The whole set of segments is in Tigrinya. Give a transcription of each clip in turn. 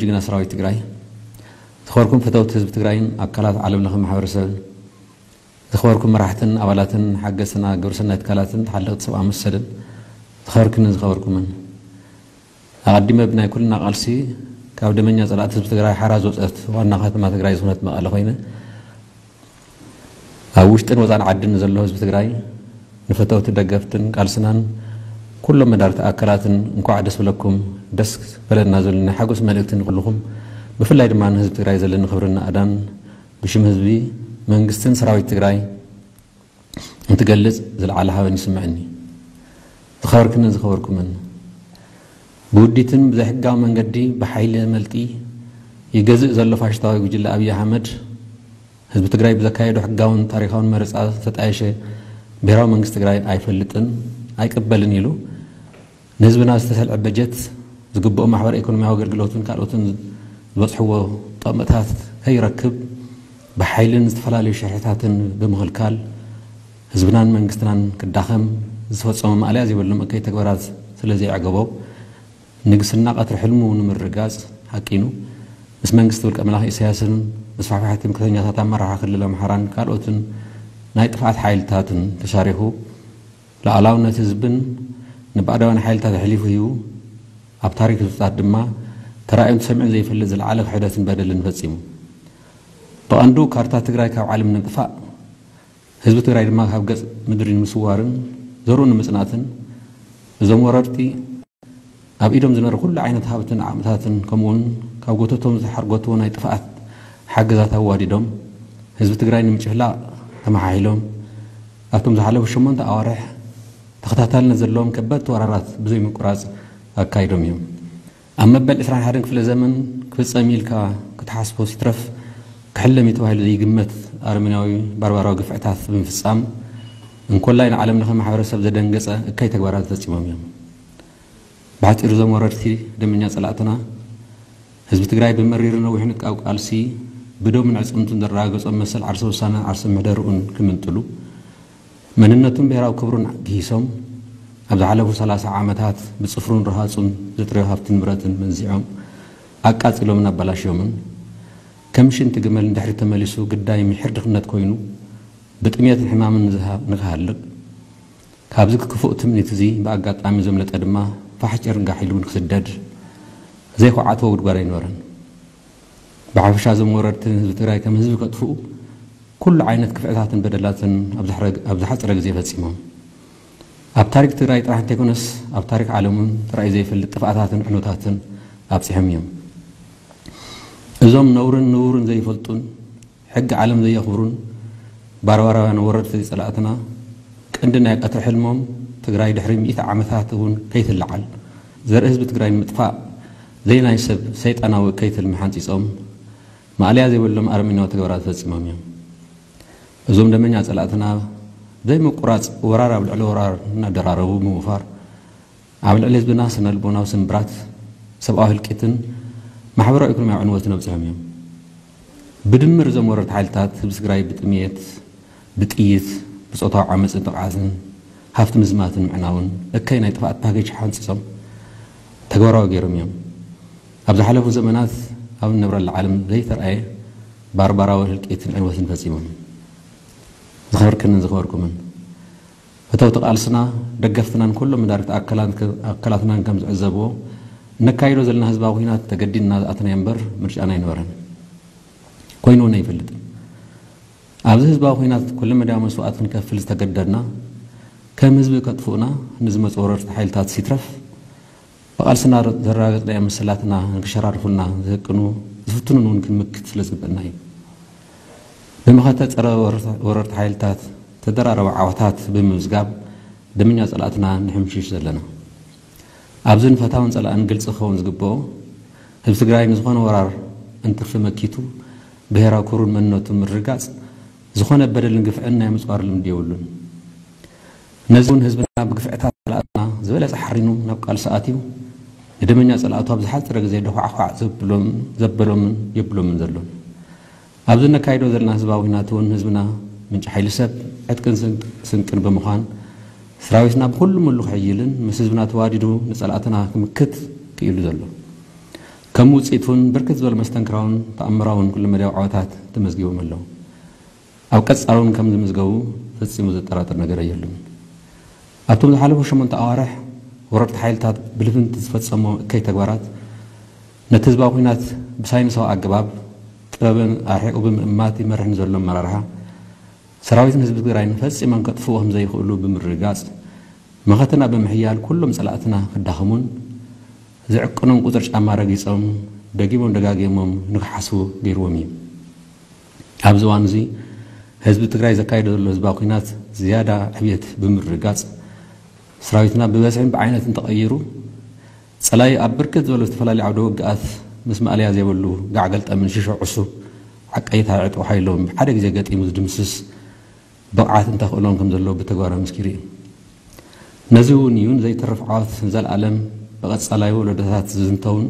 ጅግና ሰራዊት ትግራይ፣ ዝኸበርኩም ፈተውቲ ህዝቢ ትግራይን ኣካላት ዓለም ለኸ ማሕበረሰብን፣ ዝኸበርኩም መራሕትን ኣባላትን ሓገዝትን ግብረሰናይ ትካላትን ተሓለቕቲ ሰብኣዊ መሰልን፣ ዝኸበርክንን ዝኸበርኩምን፣ ኣቐዲመ ብናይ ኩልና ቃልሲ ካብ ደመኛ ጸላእቲ ህዝቢ ትግራይ ሓራ ዝወጸት ዋና ከተማ ትግራይ ዝኾነት መቐለ ኮይነ፣ ኣብ ውሽጥን ወጻን ዓድን ዘሎ ህዝቢ ትግራይ፣ ንፈተውቲ ደገፍትን ቃልስናን ኩሎም መዳርግቲ ኣካላትን እንኳዕ ደስ በለኩም፣ ደስ በለና ዝብል ናይ ሓጎስ መልእክቲ ንኹልኹም፣ ብፍላይ ድማ ንህዝቢ ትግራይ ዘለኒ ክብርን ናእዳን ብሽም ህዝቢ፣ መንግስትን ሰራዊት ትግራይ እንትገልጽ ዝለዓለ ሃበን ይስምዐኒ። ዝኸበርክንን ዝኸበርኩምን፣ ብውዲትን ብዘይሕጋዊ መንገዲ ብሓይሊ መልጢ ይገዝእ ዘሎ ፋሽስታዊ ጉጅለ ኣብይ ኣሕመድ፣ ህዝቢ ትግራይ ብዘካየዶ ሕጋውን ታሪኻውን መረፃ ዝተጣየሸ ብሄራዊ መንግስቲ ትግራይ ኣይፈልጥን ኣይቅበልን ኢሉ ንህዝብና ዝተሰልዐ በጀት፣ ዝግብኦ ማሕበረ ኢኮኖሚያዊ ኣገልግሎትን ካልኦትን ዝበፅሕዎ ጠቕምታት ከይረክብ ብሓይልን ዝተፈላለዩ ሽርሕታትን ብምኽልካል ህዝብናን መንግስትናን ክዳኸም ዝተፈፀመ ማእለያ ዘይብሎም እከይ ተግባራት ስለ ዘየዕገቦ፣ ንግስና ቀትሪ ሕልሙ ንምርጋፅ ሓቂኑ፣ ምስ መንግስቲ ውልቀ መላኺ ኢሳያስን መስፋሕፋሒ ትምክሕተኛታት ኣመራርሓ ክልል ኣምሓራን ካልኦትን ናይ ጥፍኣት ሓይልታትን ተሻሪኹ፣ ሉዓላውነት ህዝብን ንባዕዳውያን ሓይልታት ኣሕሊፉ ሂቡ፣ ኣብ ታሪክ ህዝብታት ድማ ተራእዩን ተሰሚዑን ዘይፈልጥ ዝለዓለ ክሕደትን በደልን ፈጺሙ። ብቐንዱ ካርታ ትግራይ ካብ ዓለም ንምጥፋእ፣ ህዝቢ ትግራይ ድማ ካብ ገጽ ምድሪ ንምስዋርን ዘርኡ ንምጽናትን፣ እዞም ወረርቲ ኣብ ኢዶም ዝነበረ ኩሉ ዓይነት ሃብትን ዓቕምታትን፣ ከምኡውን ካብ ጎተቶም ዝተሓርገትዎ ናይ ጥፍኣት ሓገዛት ኣዋዲዶም፣ ህዝቢ ትግራይ ንምጭፍላቕ ተመሓሒሎም፣ ኣብቶም ዝሓለፉ ሸሞንተ ኣዋርሕ ተኸታታልነት ዘለዎም ከበድቲ ወራራት ብዘይ ምቁራጽ ኣካይዶም እዮም። ኣብ መበል ዕስራን ሓደን ክፍለ ዘመን ክፍጸም ኢልካ ክትሓስቦ ሲትረፍ ክሕለም እዩ ተባሂሉ ዘይግመት ኣረመኔያዊ ባርባራዊ ግፍዕታት ብምፍጻም፣ እንኮላይ ንዓለም ለኸ ማሕበረሰብ ዘደንገጸ እከይ ተግባራት ፈጺሞም እዮም። ብሓጺሩ እዞም ወረርቲ ደመኛ ጸላእትና፣ ህዝቢ ትግራይ ብመሪርን ነዊሕን ካብ ቃልሲ ብደሙን ዕጽምቱን ዘረጋገጾም መሰል ዓርሰ ውሳነ ዓርሰ ምሕደርኡን ክምንጥሉ፣ መንነቱን ብሄራዊ ክብሩን ግሂሶም፣ ኣብ ዝሓለፉ ሰላሳ ዓመታት ብጽፍሩን ረሃጹን ዘጥረዮ ሃብትን ንብረትን መንዚዖም ኣቃጺሎምን ኣበላሽዮምን፣ ከም ሽንቲ ግመል ንድሕሪት ተመሊሱ ግዳይ ምሒር ድኽነት ኮይኑ ብጥሜትን ሕማምን ንዝሃ-፣ ንክሃልቕ፣ ካብዚ ክፉእ ትምኒት እዚ ብኣጋጣሚ ዘምለጠ ድማ ፋሕ ጭርንጋሕ ኢሉ እውን ክስደድ ዘይኮዓትዎ ጉድጓድ ኣይነበረን። ብሓፈሻ እዞም ወረርቲ ንህዝቢ ትግራይ ከም ህዝቢ ከጥፍኡ ኩሉ ዓይነት ክፍዕታትን በደላትን ኣብ ዝሕረ-፣ ኣብ ዝሓፀረ ግዜ ፈፂሞም። ኣብ ታሪክ ትግራይ ጥራሕ እንተይኮነስ ኣብ ታሪክ ዓለም እውን ተራእዩ ዘይፈልጥ ጥፍኣታትን ዕንወታትን ኣብፂሖም እዮም። እዞም ነውርን ንቡርን ዘይፈልጡን ሕጊ ዓለም ዘየኽብሩን ባርባራውያን ወረርቲ ጸላእትና፣ ቀንዲ ናይ ቀትሪ ሕልሞም ትግራይ ድሕሪ ሚእቲ ዓመታት እውን ከይትለዓል፣ ዘርኢ ህዝቢ ትግራይ ንምጥፋእ ዘይናይ ሰብ ሰይጣናዊ እከይ ትልሚ ሓንጺጾም፣ ማእለያ ዘይብሎም ኣረመኔያዊ ተግባራት ፈጺሞም እዮም። እዞም ደመኛ ጸላእትና፣ ብዘይምቁራጽ ወራር ኣብ ልዕሊ ወራር እናደራረቡ ብምውፋር፣ ኣብ ልዕሊ ህዝብና ስነ ልቦናዊ ስንብራት፣ ሰብኣዊ ህልቂትን ማሕበራዊ ኢኮኖሚያዊ ዕንወትን ኣብፂሖም እዮም። ብድምር እዞም ወረርቲ ሓይልታት ህዝቢ ትግራይ ብጥምየት፣ ብጥይት፣ ብፆታዊ ዓመፅን ጥቕዓትን፣ ሃፍቲ ምዝማትን ምዕናውን እከይ ናይ ጥፍኣት ፓኬጅ ሓንፂፆም ተግባራዊ ገይሮም እዮም። ኣብ ዝሓለፉ ዘመናት ኣብ እንነብረላ ዓለም ዘይተረኣየ ባርባራዊ ህልቂትን ዕንወትን ፈፂሞም እዮም። ዝኸበርክንን ዝኸበርኩምን፣ ፈተውቲ ቃልስና፣ ደገፍትናን ኩሎም መዳርግቲ ኣካላት-፣ ኣካላትናን ከም ዝዕዘብዎ፣ እነካይዶ ዘለና ህዝባዊ ኲናት ተገዲድና ዝኣተናዮ እምበር ምርጫና ኣይነበረን። ኮይኑ እውን ኣይፈልጥን። ኣብዚ ህዝባዊ ኲናት ኩለ መዳያዊ መስዋእቲ ክንከፍል ዝተገደድና፣ ከም ህዝቢ ከጥፍኡና ንዝመፁ ወረርቲ ሓይልታት ሲትረፍ፣ ብቓልስና ዘረጋገፅናዮ መሰላትና ንክሸራርፉልና ዝህቅኑ ዝፍትኑን እውን ክንምክት ስለ ዝግበአና እዩ። ብመኸተ ጸረ ወረርቲ ሓይልታት ተደራረበ ዓወታት ብምምዝጋብ ደመኛ ጸላእትና ንሕምሽሽ ዘለና። ኣብዚ ንፈታውን ጸላእን ግልጺ ክኸውን ዝግብኦ፣ ህዝቢ ትግራይ ንዝኾነ ወራር እንትርፊ መኪቱ ብሄራዊ ክብሩን መንነቱ ምርግጋጽ ዝኾነ በደልን ግፍዕን ናይ ምጽዋር ልምዲ የብሉን። ነዚ እውን ህዝብና ብግፍዕታት ጸላእትና ዝበለጸ ሓሪኑ ናብ ቃልሲ ኣትዩ፣ ንደመኛ ጸላእቱ ኣብ ዝሓጸረ ግዜ ደዃዕኳዕ ዘብሎም-፣ ዘበሎምን የብሎምን ዘሎን። ኣብዚ እነካይዶ ዘለና ህዝባዊ ኲናት እውን ህዝብና ምንጪ ሓይሊ ሰብ፣ ዕጥቅን ስንቅ-፣ ስንቅን ብምዃን፣ ሰራዊትና ብኹሉ ምሉ ክሕይልን ምስ ህዝብና ተዋዲዱ ንጸላእትና ክምክት ክኢሉ ዘሎ። ከም ውፅኢት እውን ብርክት ዝበሉ መስተንክራውን ተኣምራውን ኩለመዳያዊ ዓወታት ተመዝጊቦም ኣለዉ። ኣብ ቀፃሊ እውን ከም ዝምዝገቡ ፈፂሙ ዘጠራጥር ነገር የብሉን። ኣብቶም ዝሓለፉ ሸሞንተ ኣዋርሕ ወረርቲ ሓይልታት ብልፍንቲ ዝፈፀሞ እከይ ተግባራት ነቲ ህዝባዊ ኲናት ብሳይንሳዊ ኣገባብ ጥበብን ኣርሒቑ ብምእማት ይመርሕ ንዘሎ ኣመራርሓ ሰራዊትን ህዝቢ ትግራይን ፈፂሞም ከጥፍኡ ከም ዘይኽእሉ ብምርግጋፅ መኸተና ብምሕያል ኩሎም ፀላእትና ክዳኸሙን ዝዕቅኖም ቁፅር ጫማ ረጊፆም ደጊሞም ደጋጊሞም ንክሓስቡ ገይርዎም እዩ። ኣብዚ እዋን እዚ ህዝቢ ትግራይ ዘካየዶ ዘሎ ህዝባዊ ኲናት ዝያዳ ዕብየት ብምርግጋፅ ሰራዊትና ብበዝሕን ብዓይነትን ተቐይሩ ፀላኢ ኣብ ብርክት ዝበሉ ዝተፈላለዩ ዓውደ ውግኣት ምስ ማእለያ ዘይብሉ ጋዕ ገልጠምን ሽሾ ዕሱብ ዓቀይታ ዕጥቂ ሓይሎም ብሓደ ግዜ ገጢሙ ዝድምስስ ብቕዓት እንተኽእሎም ከም ዘለዎ ብተግባር ኣመስኪሩ እዩ። ነዚ እውን እዩ ንዘይተርፍ ዓወት ንዘለኣለም ብቐጻላይ ወለዶታት ዝዝንተውን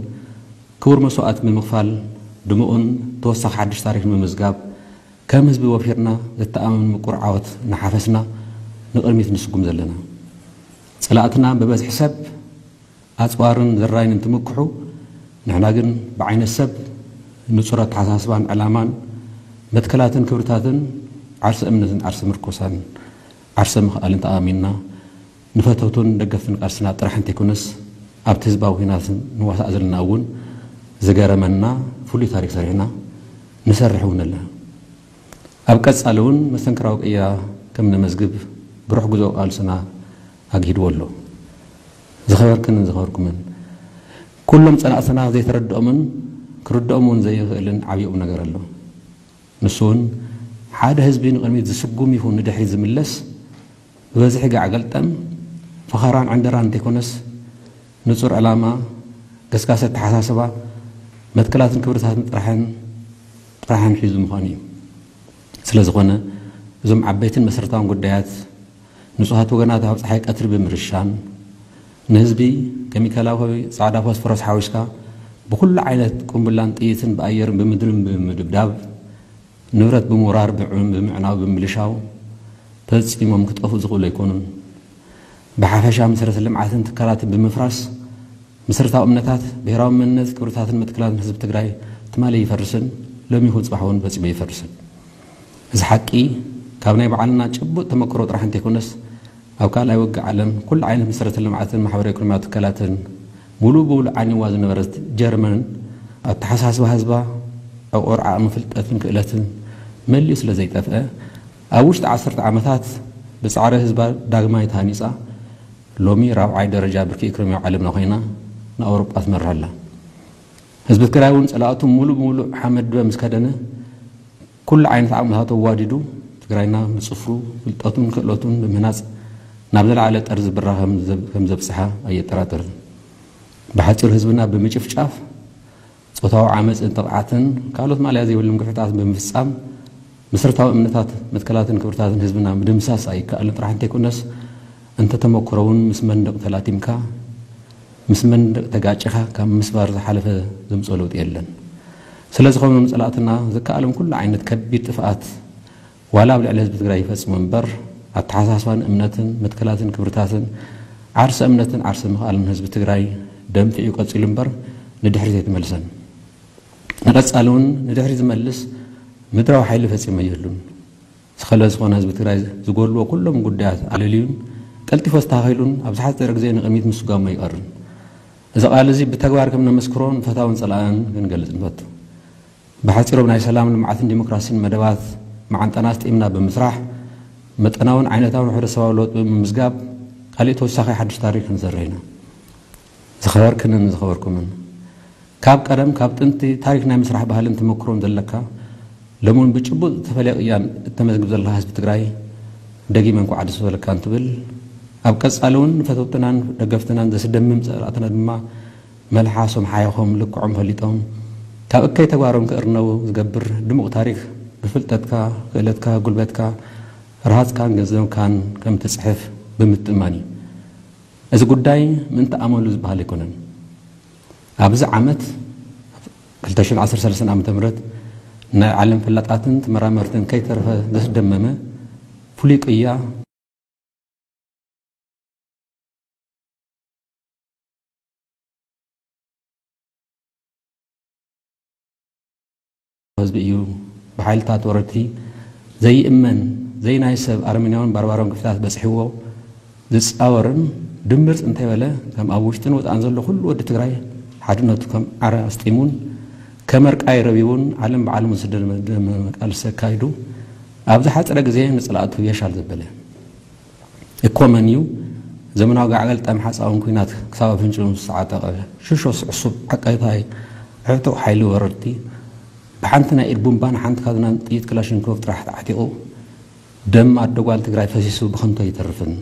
ክቡር መስዋእቲ ብምኽፋል ድሙቕን ተወሳኺ ሓድሽ ታሪኽ ንምምዝጋብ ከም ህዝቢ ወፊርና ዘተኣማምን ምቁር ዓወት እናሓፈስና ንቕድሚት ንስጉም ዘለና። ጸላእትና ብበዝሒ ሰብ ኣጽዋርን ዘራይን እንትምክሑ፣ ንሕና ግን ብዓይነት ሰብ ንጹር ኣተሓሳስባን ዕላማን መትከላትን ክብርታትን ዓርሰ እምነትን ዓርሰ ምርኮሳን ዓርሰ ምኽኣልን ተኣሚንና ንፈተውቱን ደገፍትን ቃልስና ጥራሕ እንተይኮነስ ኣብቲ ህዝባዊ ኲናት ንዋሳእ ዘለና እውን ዝገረመና ፍሉይ ታሪክ ሰሪሕና ንሰርሕ እውን ኣለና። ኣብ ቀጻሊ እውን መስተንክራዊ ቅያ ከም ነመዝግብ ብሩሕ ጉዞ ቃልስና ኣግሂድዎ ኣሎ። ዝኸበርክንን ዝኸበርኩምን ኩሎም ጸላእትና ዘይተረድኦምን ክርድኦም እውን ዘይኽእልን ዓብዪ ቁም ነገር ኣሎ። ንሱ እውን ሓደ ህዝቢ ንቕድሚት ዝስጉም ይኹን ንድሕሪት ዝምለስ ብበዝሒ ጋዕ ገልጠም ፈኸራን ዕንደራን እንተይኮነስ ንጹር ዕላማ፣ ገስጋሲ ኣተሓሳስባ፣ መትከላትን ክብርታትን ጥራሕን ጥራሕን ሒዙ ምዃኑ እዩ። ስለ ዝኾነ እዞም ዓበይትን መሰረታውን ጉዳያት ንጹሃት ወገናት ኣብ ጸሓይ ቀትሪ ብምርሻን ንህዝቢ ኬሚካላዊ ጻዕዳ ፎስፈረስ ሓዊስካ ብኹሉ ዓይነት ቁምብላን ጥይትን ብኣየርን ብምድርን ብምድብዳብ ንብረት ብምውራር ብዕም ብምዕናው ብምልሻው ፈጺሞም ክጠፍኡ ዝኽእሉ ኣይኮኑን። ብሓፈሻ መሰረተ ልምዓትን ትካላትን ብምፍራስ መሰረታዊ እምነታት ብሄራዊ መንነት ክብርታትን መትከላትን ህዝቢ ትግራይ ትማሊ ይፈርስን ሎሚ ይኹን ፅባሕ እውን ፈፂሙ ይፈርስን። እዚ ሓቂ ካብ ናይ ባዕልና ጭቡጥ ተመክሮ ጥራሕ እንተይኮነስ ኣብ ካልኣይ ውግእ ዓለም ኩሉ ዓይነት መሰረተ ልምዓትን ማሕበራዊ ኢኮኖሚያዊ ትካላትን ሙሉእ ብሙሉእ ዓንይዋ ዝነበረት ጀርመን ኣተሓሳስባ ህዝባ ዕቑር ዓቕሚ ፍልጠትን ክእለትን መሊኡ ስለ ዘይጠፍአ ኣብ ውሽጢ ዓሰርተ ዓመታት ብፃዕሪ ህዝባ ዳግማይ ተሃኒፃ ሎሚ ራብዓይ ደረጃ ብርኪ ኢኮኖሚያዊ ዓለምና ኮይና ንኣውሮጳ ትመርሕ ኣላ። ህዝቢ ትግራይ እውን ፀላእቱ ሙሉእ ብሙሉእ ሓመድ ድበ ምስ ከደነ ኩሉ ዓይነት ዓቕምታቱ ኣዋዲዱ ትግራይና ብፅፍሩ ፍልጠቱን ክእለቱን ብምህናፅ ናብ ዘለዓለ ጠርዚ ብራ ከም ዘብ- ከም ዘብፅሓ ኣየጠራጥርን። ብሓፂሩ ህዝብና ብምጭፍጫፍ ጾታዊ ዓመፅን ጥቕዓትን ካልኦት ማእለያ ዘይብሎም ግፍዕታት ብምፍፃም መሰረታዊ እምነታት መትከላትን ክብርታትን ህዝብና ምድምሳስ ኣይከኣልን ጥራሕ እንተይኮነስ እንተተመክሮ እውን ምስ መንደቕ ተላቲምካ ምስ መንደቕ ተጋጭኻ ካብ ምስባር ዝሓለፈ ዘምፅኦ ለውጢ የለን። ስለዝኾነ ንፀላእትና ዝከኣሎም ኩሉ ዓይነት ከቢድ ጥፍኣት ዋላ ኣብ ልዕሊ ህዝቢ ትግራይ ይፈፅሙ እምበር ኣተሓሳስባን እምነትን መትከላትን ክብርታትን ዓርሰ እምነትን ዓርሰ ምኽኣልን ህዝቢ ትግራይ ደንፊዑ ቀፂሉ እምበር ንድሕሪት ኣይተመልሰን። ንቐፃሊ እውን ንድሕሪት ዝመልስ ምድራዊ ሓይሊ ፈፂሙ የህሉን። ዝኸለ ዝኾነ ህዝቢ ትግራይ ዝጎድልዎ ኩሎም ጉዳያት ኣለልዩን ቀልጢፉ ኣስተኻኺሉን ኣብ ዝሓፀረ ግዜ ንቕድሚት ምስጓሙ ኣይቀርን። እዚ ቃል እዚ ብተግባር ከም ነመስክሮ ንፈታውን ፀላእን ክንገልፅ ንፈቱ። ብሓፂሮም ናይ ሰላም ልምዓትን ዲሞክራሲን መደባት መዓንጣና ኣስጢምና ብምስራሕ መጠናውን ዓይነታውን ሕብረተሰባዊ ለውጢ ብምምዝጋብ ካሊእ ተወሳኺ ሓድሽ ታሪክ ክንሰርሕ ኢና። ዝኸበርክንን ዝኸበርኩምን ካብ ቀደም ካብ ጥንቲ ታሪክ ናይ ምስራሕ ባህልን ተመክሮን ዘለካ ሎሚ እውን ብጭቡጥ ዝተፈለየ ቅያን እተመዝግብ ዘለካ ህዝቢ ትግራይ ደጊመ እንኳዕ ደስ በለካ እንትብል ኣብ ቀፃሊ እውን ንፈተውትናን ደገፍትናን ዘስደምም ፀላእትና ድማ መልሓሶም ሓይኾም ልክዖም ፈሊጦም ካብ እከይ ተግባሮም ክእርነቡ ዝገብር ድሙቕ ታሪክ ብፍልጠትካ፣ ክእለትካ፣ ጉልበትካ፣ ረሃፅካን ገንዘብካን ከም ትፅሕፍ ብምትእማን እዩ። እዚ ጉዳይ ምእንቲ ኣመሉ ዝበሃል ኣይኮነን። ኣብዚ ዓመት ክልተ ሽሕን ዓሰርተ ሰለስተን ዓመተ ምህረት ናይ ዓለም ፈላጣትን ተመራመርትን ከይተረፈ ዘስደመመ ፍሉይ ቅያ ህዝቢ እዩ። ብሓይልታት ወረድቲ ዘይእመን፣ ዘይናይ ሰብ ኣረመኔያውን ባርባራውን ግፍታት በጽሕዎ ዝጻወርን ድምር እንተይበለ፣ ከም ኣብ ውሽጥን ወጻእን ዘሎ ኩሉ ወዲ ትግራይ ሓድነቱ ከም ዓረ ኣስጢሙን ከም ኣርቃይ ረቢቡን ዓለም ብዓለሙ ዝደመ ቃልሲ ኣካይዱ ኣብ ዝሓጸረ ግዜ ንጸላእቱ የሻል ዘበለ። እኮ መን እዩ ዘመናዊ ጋዕጋል ጠም ሓፃውን ኲናት ክሳብ ኣፍንጭኡ ምስ ተዓጠቐ ሽሾስ ዕሱብ ዓቃይታይ ዕጡቕ ሓይሊ ወረርቲ ብሓንቲ ናይ ኢድ ቡምባን ሓንቲ ካዝናን ጥይት ክላሽንኮቭ ጥራሕ ተዓጢቑ ደም ኣዶ ጓል ትግራይ ፈሲሱ ብኸንቱ ኣይተርፍን።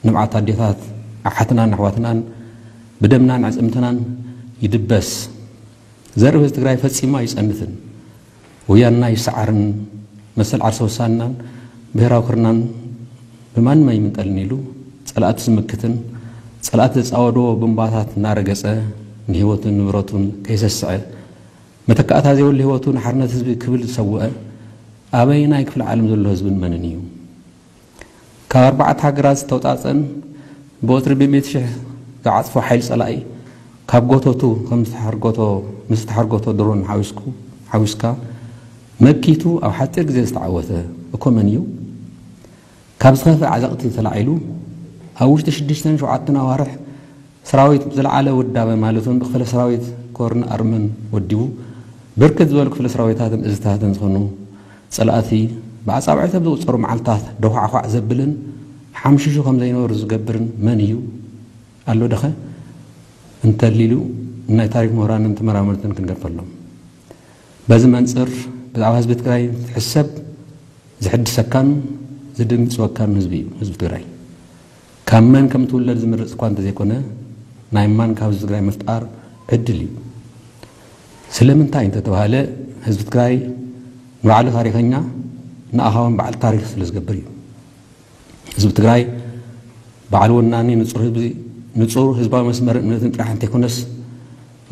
ንብዓት ኣዴታት ኣሓትናን ኣሕዋትናን ብደምናን ኣዕፅምትናን ይድበስ። ዘርኢ ህዝቢ ትግራይ ፈፂሙ ኣይፀንትን። ወያንና ይሰዓርን መሰል ዓርሰ ውሳንናን ብሄራዊ ክርናን ብማንም ኣይምንጠልን ኢሉ ፀላእቲ ዝምክትን ፀላእቲ ዘፃወድዎ ቡምባታት እናረገፀ ንህይወቱን ንብረቱን ከይሰስዐ መተካእታ ዘይብሉ ህይወቱ ንሓርነት ህዝቢ ክብል ዝሰውአ ኣበየናይ ክፍለ ዓለም ዘሎ ህዝብን መንን እዩ? ካብ ኣርባዕተ ሃገራት ዝተውፃፀን ብቁፅሪ ብሚእቲ ሽሕ ዝዓፅፎ ሓይሊ ፀላኢ ካብ ጎተቱ ከም ዝተሓርጎቶ ምስ ዝተሓርጎቶ ድሮን ሓዊስኩ ሓዊስካ መኪቱ ኣብ ሓፂር ግዜ ዝተዓወተ እኮ መን እዩ? ካብ ዝኸፍእ ዓዘቕቲ ተላዒሉ ኣብ ውሽጢ ሽዱሽተን ሸውዓተን ኣዋርሕ ሰራዊት ብዝለዓለ ውዳበ ማለት እውን ብክፍለ ሰራዊት ኮርን ኣርምን ወዲቡ ብርክት ዝበሉ ክፍለ ሰራዊታትን እዝታትን ዝኾኑ ፀላእቲ ብኣፃብዕቲ ኣብ ዝቑፀሩ መዓልታት ደዃዕኳዕ ዘብልን ሓምሽሹ ከም ዘይነበሩ ዝገብርን መን እዩ? ኣሎ ደኸ? እንተሊሉ ናይ ታሪክ ምሁራንን ተመራመርትን ክንገድፈሎም። በዚ መንፅር ብዛዕባ ህዝቢ ትግራይ ትሕሰብ ዝሕድሰካን ዝድንግፅወካን ህዝቢ እዩ ህዝቢ ትግራይ። ካብ መን ከም ትውለድ ዝምርፅ እኳ እንተዘይኮነ ናይ ማን ካብ ህዝቢ ትግራይ ምፍጣር ዕድል እዩ። ስለምንታይ እንተተባሃለ ህዝቢ ትግራይ ንባዕሉ ታሪኸኛ ንኣኻ እውን በዓል ታሪክ ስለ ዝገብር እዩ። ህዝቢ ትግራይ በዓል ወናኒ ንፁር ህዝቢ ንፁር ህዝባዊ መስመር እምነትን ጥራሕ እንተይኮነስ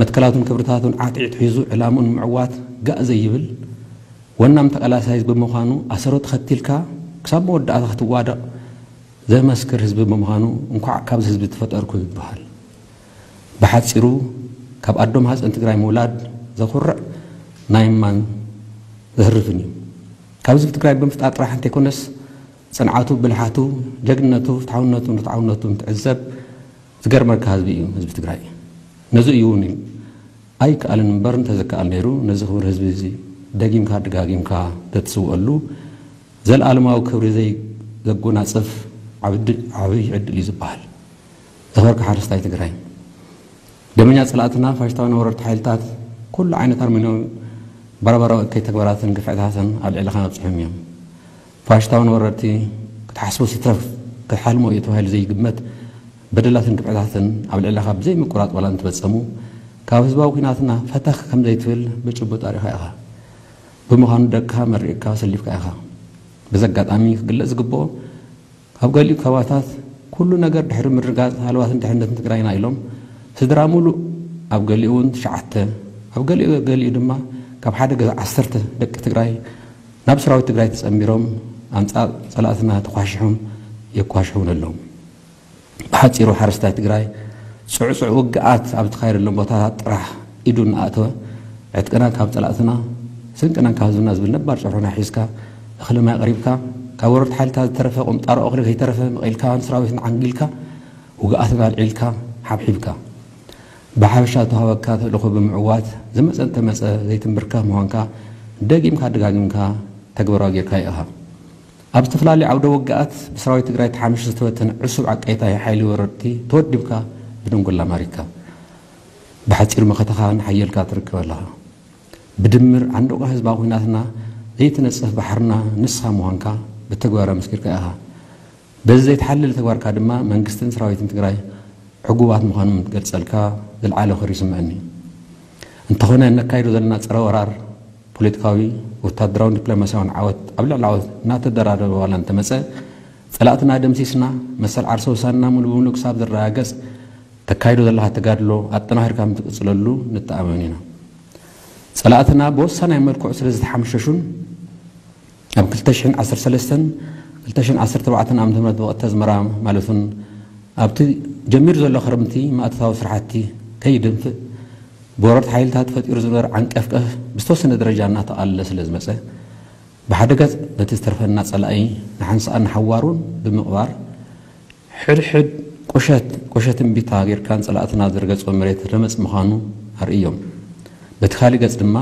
መትከላቱን ክብርታቱን ዓትዒት ሒዙ ዕላምኡ ንምዕዋት ጋእ ዘይብል ወናም ተቃላሳይ ብምዃኑ ኣሰሮ ተኸቲልካ ክሳብ መወዳእታ ክትዋደቕ ዘመስክር ህዝቢ ብምዃኑ እንኳዕ ካብዚ ህዝቢ ተፈጠርኩ ይበሃል። ብሓፂሩ ካብ ኣዶ ማህፀን ትግራይ ምውላድ ዘኹርዕ ናይ እማን ዘህርፍን እዩ። ካብ ህዝቢ ትግራይ ብምፍጣር ጥራሕ እንተይኮነስ ፅንዓቱ፣ ብልሓቱ፣ ጀግንነቱ፣ ፍትሓውነቱን ርትዓውነቱን ትዕዘብ ዝገርመካ ህዝቢ እዩ ህዝቢ ትግራይ። ነዚ እዩ እውን ኣይከኣልን እምበር እንተዘከኣል ነይሩ ነዚ ክቡር ህዝቢ እዚ ደጊምካ ደጋጊምካ ተትስውአሉ ዘለኣለማዊ ክብሪ ዘጎናፅፍ ዓብይ ዕድል እዩ ዝበሃል። ዝኸበርካ ሓረስታይ ትግራይ፣ ደመኛ ፀላእትና ፋሽስታውያን ወረርቲ ሓይልታት ኩሉ ዓይነት ኣርሜናዊ ባርባራዊ እከይ ተግባራትን ግፍዕታትን ኣብ ልዕልኻ ኣብፂሖም እዮም። ፋሽስታውያን ወረርቲ ክትሓስቦ ሲትረፍ ክትሓልሞ እዩ ተባሂሉ ዘይግመት በደላትን ግፍዕታትን ኣብ ልዕልኻ ብዘይ ምቁራፅ ዋላ እንትፈፀሙ ካብ ህዝባዊ ኲናትና ፈተኽ ከም ዘይትብል ብጭቡጥ ኣሪኻ ኢኻ። ብምዃኑ ደቅኻ መሪቕካ ሰሊፍካ ኢኻ። በዚ ኣጋጣሚ ክግለፅ ዝግብኦ ኣብ ገሊኡ ከባብታት ኩሉ ነገር ድሕሪ ምርጋፅ ሃለዋትን ድሕነትን ትግራይና ኢሎም ስድራ ሙሉእ ኣብ ገሊኡ እውን ትሽዓተ ኣብ ገሊኡ ገሊኡ ድማ ካብ ሓደ ገዛ ዓሰርተ ደቂ ትግራይ ናብ ሰራዊት ትግራይ ተፀንቢሮም ኣንፃር ፀላእትና ተኳሽሖም የኳሽሑን ኣለዉ። ብሓፂሩ ሓረስታይ ትግራይ ፅዕፁዕ ውግኣት ኣብ ዝተኻየደሎም ቦታታት ጥራሕ ኢዱ እናኣእተወ ዕጥቅና ካብ ፀላእትና ስንቅና ካብ ህዝብና ዝብል ነባር ጭርሖና ሒዝካ እኽሊ ማይ ኣቕሪብካ ካብ ወረርቲ ሓይልታት ዝተረፈ ቁንጣሮ እኽሊ ከይተረፈ መቒልካ ንሰራዊትና ዓንጊልካ ውግኣትና ኣልዒልካ ሓብሒብካ ብሓፈሻ ዝተዋህበካ ተልእኾ ብምዕዋት ዝመፀ እንተመፀ ዘይትንብርከኽ ምዃንካ ደጊምካ ደጋጊምካ ተግባራዊ ጌርካዮ ኢኻ። ኣብ ዝተፈላለዩ ዓውደ ውግኣት ብሰራዊት ትግራይ ተሓሚሹ ዝተበተነ ዕሱብ ዓቀይታይ ሓይሊ ወረርቲ ተወዲብካ ብደንጎላ ማሪክካ። ብሓፂሩ መኸተኻ ንሓየልካ ትርከብ ኣለኻ። ብድምር ዓንዶቋ ህዝባዊ ኲናትና ዘይትነፅፍ ባሕርና ንስኻ ምዃንካ ብተግባር ኣመስኪርካ ኢኻ። በዚ ዘይተሓለለ ተግባርካ ድማ መንግስትን ሰራዊትን ትግራይ ዕጉባት ምዃኖም እንትገልፀልካ ዝለዓለ ክብሪ ይስምዐኒ። እንተኾነ እነካይዶ ዘለና ፀረ ወራር ፖለቲካዊ፣ ወታደራውን ዲፕሎማሲያውን ዓወት ኣብ ልዕሊ ዓወት እናተደራረበ ዋላ እንተመፀ ፀላእትና ደምሲስና መሰል ዓርሰ ውሳንና ሙሉ ብምሉእ ክሳብ ዝረጋገፅ ተካይዶ ዘለኻ ተጋድሎ ኣጠናኺርካ ምትቅፅለሉ ንተኣመን ኢና። ፀላእትና ብወሳናይ መልክዑ ስለ ዝተሓምሸሹን ኣብ ክልተ ሽሕን ዓሰርተ ሰለስተን ክልተ ሽሕን ዓሰርተ ኣርባዕተን ዓመተ ምህረት ብወቕቲ ኣዝመራ ማለት እውን ኣብቲ ጀሚሩ ዘሎ ክረምቲ ማእቶታዊ ስራሕቲ ከይደንፍእ ብወረርቲ ሓይልታት ተፈጢሩ ዝነበረ ዓንቀፍቀፍ ብዝተወሰነ ደረጃ እናተቓለለ ስለ ዝመጸ፣ ብሓደ ገጽ ነቲ ዝተርፈና ጸላኢ ንሓንሳእን ንሓዋሩን ብምቕባር፣ ሕድሕድ ቁሸት ቁሸት እምቢታ ጌርካ ንጸላእትና ዝረገጾ መሬት ረመጽ ምዃኑ ኣርእዮም። በቲ ካልእ ገጽ ድማ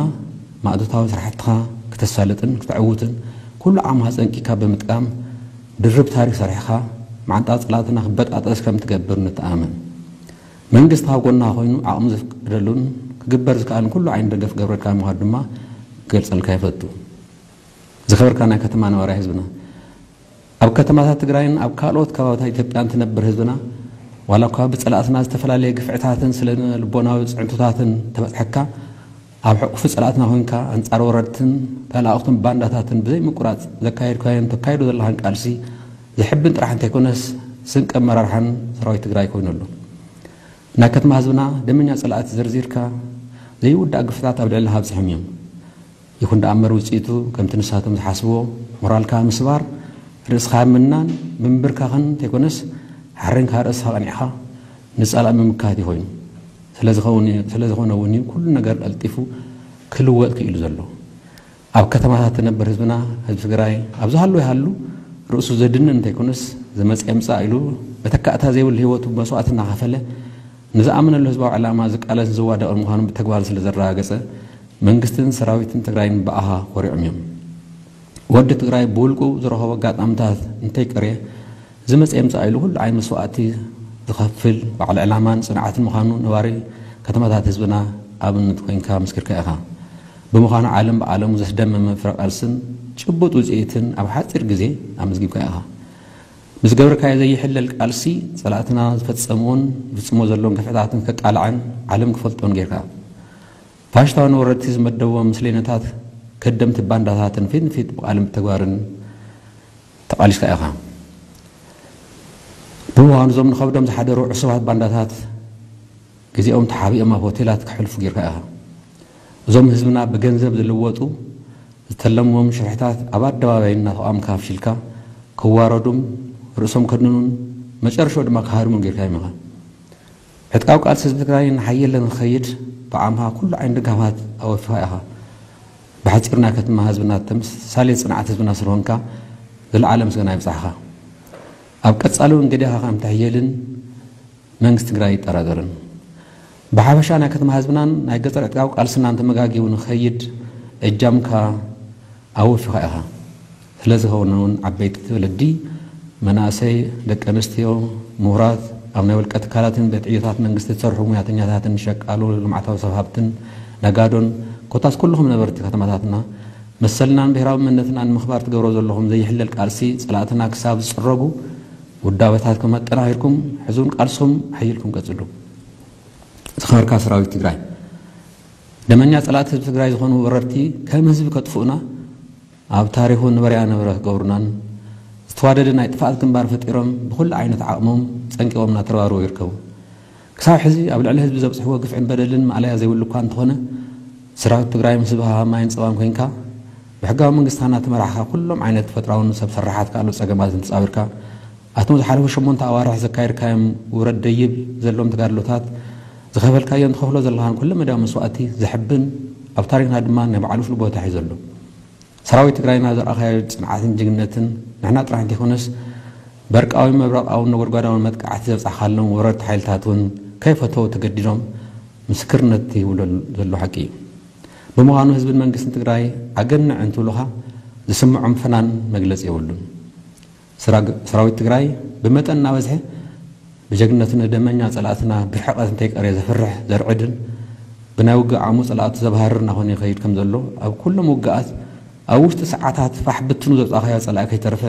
ማእቶታዊ ስራሕትኻ ክተሳልጥን ክተዕውትን ኩሉ ዓቕምኻ ጸንቂካ ብምጥቃም ድርብ ታሪኽ ሰሪሕኻ ማዕንጣ ጸላእትና ክበጣጠስ ከም ትገብር ንተኣመን። መንግስቲ ኣብ ጎንኻ ኮይኑ ዓቕሙ ዘፍቅደሉን ክግበር ዝከኣልን ኩሉ ዓይነት ደገፍ ክገብረልካ ምዃኑ ድማ ክገልጸልካ ይፈቱ። ዝኸበርካ ናይ ከተማ ነባራይ ህዝብና፣ ኣብ ከተማታት ትግራይን ኣብ ካልኦት ከባቢታት ኢትዮጵያን ትነብር ህዝብና፣ ዋላ እኳ ብጸላእትና ዝተፈላለየ ግፍዕታትን ስነ ልቦናዊ ጽዕንቶታትን ተበጽሐካ፣ ኣብ ሕቑፊ ጸላእትና ኮይንካ ኣንጻር ወረድትን ተላእኽቱን ባንዳታትን ብዘይ ምቁራጽ ዘካየድካዮን ተካይዶ ዘለኻን ቃልሲ ዘሕብን ጥራሕ እንተይኮነስ ስንቂ ኣመራርሓን ሰራዊት ትግራይ ኮይኑ ኣሎ። ናይ ከተማ ህዝብና ደመኛ ጸላእቲ ዘርዚርካ ዘይውዳእ ግፍዕታት ኣብ ልዕሊ ኣብጺሖም እዮም። ይኹን ደኣ እምበር ውጽኢቱ ከምቲ ንሳቶም ዝሓስብዎ ሞራልካ ምስባር፣ ርእስኻ ምናን ምንብርካኽን እንተይኮነስ ሓሬንካ ርእስኻ ቀኒዕኻ ንጸላእ ምምካት እዩ ኮይኑ። ስለ ዝኸውን እዩ- ስለ ዝኾነ እውን እዩ ኩሉ ነገር ቀልጢፉ ክልወጥ ክኢሉ ዘሎ። ኣብ ከተማታት ትነብር ህዝብና፣ ህዝቢ ትግራይ ኣብ ዝሃሉ ይሃሉ ርእሱ ዘድንን እንተይኮነስ ዝመጽእ ይምጻእ ኢሉ መተካእታ ዘይብሉ ህይወቱ መስዋእቲ እናኸፈለ ንዝኣመነሉ ህዝባዊ ዕላማ ዝቃለስን ዝዋደቕን ምዃኑ ብተግባር ስለ ዘረጋገጸ መንግስትን ሰራዊትን ትግራይን ብኣኻ ኮሪዖም እዮም። ወዲ ትግራይ ብውልቁ ዝረኸቦ ኣጋጣምታት እንተይቀርየ ዝመጽእ ይምጻእ ኢሉ ኩሉ ዓይነት መስዋእቲ ዝኸፍል በዓል ዕላማን ጽንዓትን ምዃኑ ነባሪ ከተማታት ህዝብና ኣብነት ኮይንካ መስኪርካ ኢኻ። ብምዃኑ ዓለም ብዓለሙ ዘስደመመ ፍረ ቃልስን ጭቡጥ ውጽኢትን ኣብ ሓጺር ግዜ ኣመዝጊብካ ኢኻ። ምስ ገበርካዮ ዘይሕለል ቃልሲ ጸላእትና ዝፈጸምዎን ይፍጽሞ ዘለውን ግፍዕታትን ከቃልዐን ዓለም ክፈልጦን ጌርካ። ፋሽስታዊ ወረርቲ ዝመደቦም ምስለይነታት ከደምቲ ባንዳታትን ፊት ንፊት ብቃልን ብተግባርን ተቓሊስካ ኢኻ። ብምዃኑ እዞም ንኸብዶም ዝሓደሩ ዕሱባት ባንዳታት ግዜኦም ተሓቢኦም ኣብ ሆቴላት ከሕልፉ ጌርካ ኢኻ። እዞም ህዝብና ብገንዘብ ዝልወጡ ዝተለምዎም ሽርሕታት ኣብ ኣደባባይ እናተቓወምካ ኣፍሺልካ ክዋረዱን ርእሶም ከድንኑን መጨረሻኡ ድማ ክሃድሙን ጌርካዮም ኢኻ። ዕጥቃዊ ቃልሲ ህዝቢ ትግራይ እናሓየለ ንክኸይድ ብዓምኻ ኩሉ ዓይነት ድጋፋት ኣወፊኻ ኢኻ። ብሓፂር ናይ ከተማ ህዝብና ተምሳሌት ፅንዓት ህዝብና ስለሆንካ ዝለዓለ ምስጋና ይብፃሕኻ። ኣብ ቀፃሊ እውን ገዲኻ ከም ትሕየልን መንግስቲ ትግራይ ኣይጠራጠርን። ብሓፈሻ ናይ ከተማ ህዝብናን ናይ ገጠር ዕጥቃዊ ቃልስናን ተመጋጊቡ ንክኸይድ እጃምካ ኣወፊኻ ኢኻ። ስለዚ ከውን እውን ዓበይቲ ወለዲ፣ መናእሰይ፣ ደቂ ኣንስትዮ፣ ምሁራት፣ ኣብ ናይ ውልቀ ትካላትን ቤት ዕዮታት መንግስቲ ዝሰርሑ ሙያተኛታትን ሸቃሎ ልምዓታዊ ሰብ ሃብትን ነጋዶን ኮታስ ኩልኹም ነበርቲ ከተማታትና መሰልናን ብሄራዊ መንነትናን ንምኽባር ትገብሮ ዘለኹም ዘይሕለል ቃልሲ ጸላእትና ክሳብ ዝጽረጉ ውዳበታት ከም ኣጠናኺርኩም ሕዚ እውን ቃልስኹም ኣሕይልኩም ቀጽሉ። ዝኸበርካ ሰራዊት ትግራይ፣ ደመኛ ጸላእቲ ህዝቢ ትግራይ ዝኾኑ ወረርቲ ከም ህዝቢ ከጥፍኡና ኣብ ታሪኹ ነበረያ ነበረ ክገብሩናን ዝተዋደደ ናይ ጥፍኣት ግንባር ፈጢሮም ብኹሉ ዓይነት ዓቕሞም ጸንቂቖም እናተረባረቡ ይርከቡ። ክሳብ ሕዚ ኣብ ልዕሊ ህዝቢ ዘብፅሕዎ ግፍዕን በደልን ማእለያ ዘይብሉ እኳ እንተኾነ ሰራዊት ትግራይ ምስ ህዝብኻ ማይን ፀባን ኮይንካ ብሕጋዊ መንግስትና ተመራሕኻ ኩሎም ዓይነት ተፈጥራውን ሰብ ሰራሓት ካልኦት ፀገማትን ተፃዊርካ ኣቶም ዝሓለፉ ሸሞንተ ኣዋርሕ ዘካየድካዮም ውረድ ደይብ ዘለዎም ተጋድሎታት ዝኸፈልካዮን ትኸፍሎ ዘለኻን ኩለ መዳያዊ መስዋእቲ ዘሕብን ኣብ ታሪክና ድማ ናይ ባዕሉ ፍሉይ ቦታ ሒዙ ኣሎ። ሰራዊት ትግራይና ዘርኣኻዮ ፅንዓትን ጅግንነትን ንሕና ጥራሕ እንተይኮነስ በርቃዊ መብረቃውን ነጎድጓዳውን መጥቃዕቲ ዘብፃሕካሎም ወረርቲ ሓይልታት እውን ከይፈተው ተገዲዶም ምስክርነት ይህቡ ዘሎ ሓቂ እዩ። ብምዃኑ ህዝብን መንግስትን ትግራይ ኣገንዕ እንትብሉኻ ዝስምዖም ፈናን መግለፂ የብሉን። ሰራዊት ትግራይ ብመጠን እናበዝሐ ብጀግንነቱ ንደመኛ ፀላእትና ብርሕቐት እንተይቀርየ ዘፍርሕ ዘርዕድን ብናይ ውግእ ዓቕሙ ፀላእቱ ዘባህርር እናኾነ ይኸይድ ከም ዘሎ ኣብ ኩሎም ውግኣት ኣብ ውሽጢ ሰዓታት ፋሕ ብትኑ ዘውፃእኻዮ ፀላኢ ከይተረፈ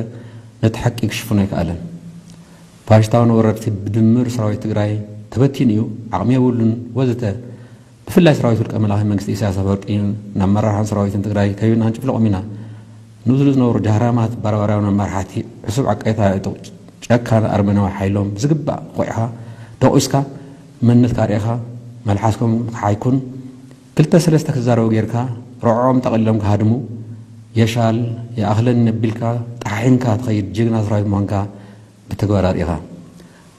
ነቲ ሓቂ ክሽፍኖ ኣይከኣለን። ፋሽስታውን ወረርቲ ብድምር ሰራዊት ትግራይ ተበቲኑ እዩ፣ ዓቕሚ የብሉን ወዘተ ብፍላይ ሰራዊት ውልቀ መላኺ መንግስቲ ኢሳያስ ኣፈወርቂ ናብ መራርሓን ሰራዊትን ትግራይ ከይብና ክንጭፍልቖም ኢና ንዝብሉ ዝነበሩ ጃህራማት ባርባራውያን መራሕቲ ዕሱብ ዓቃይታ ዕጡቕ ጨካን ኣርመናዊ ሓይሎም ብዝግባእ ቆዒኻ ደቑስካ መንነትካ ኣርኢኻ መልሓስኩም ክሓይኩን ክልተ ሰለስተ ክዛረቡ ጌርካ ርዕዖም ጠቕሊሎም ክሃድሙ የሻል የኣኽለኒ ነቢልካ ጠሓሒንካ ትኸይድ ጅግና ሰራዊት ምዃንካ ብተግባር ኣርኢኻ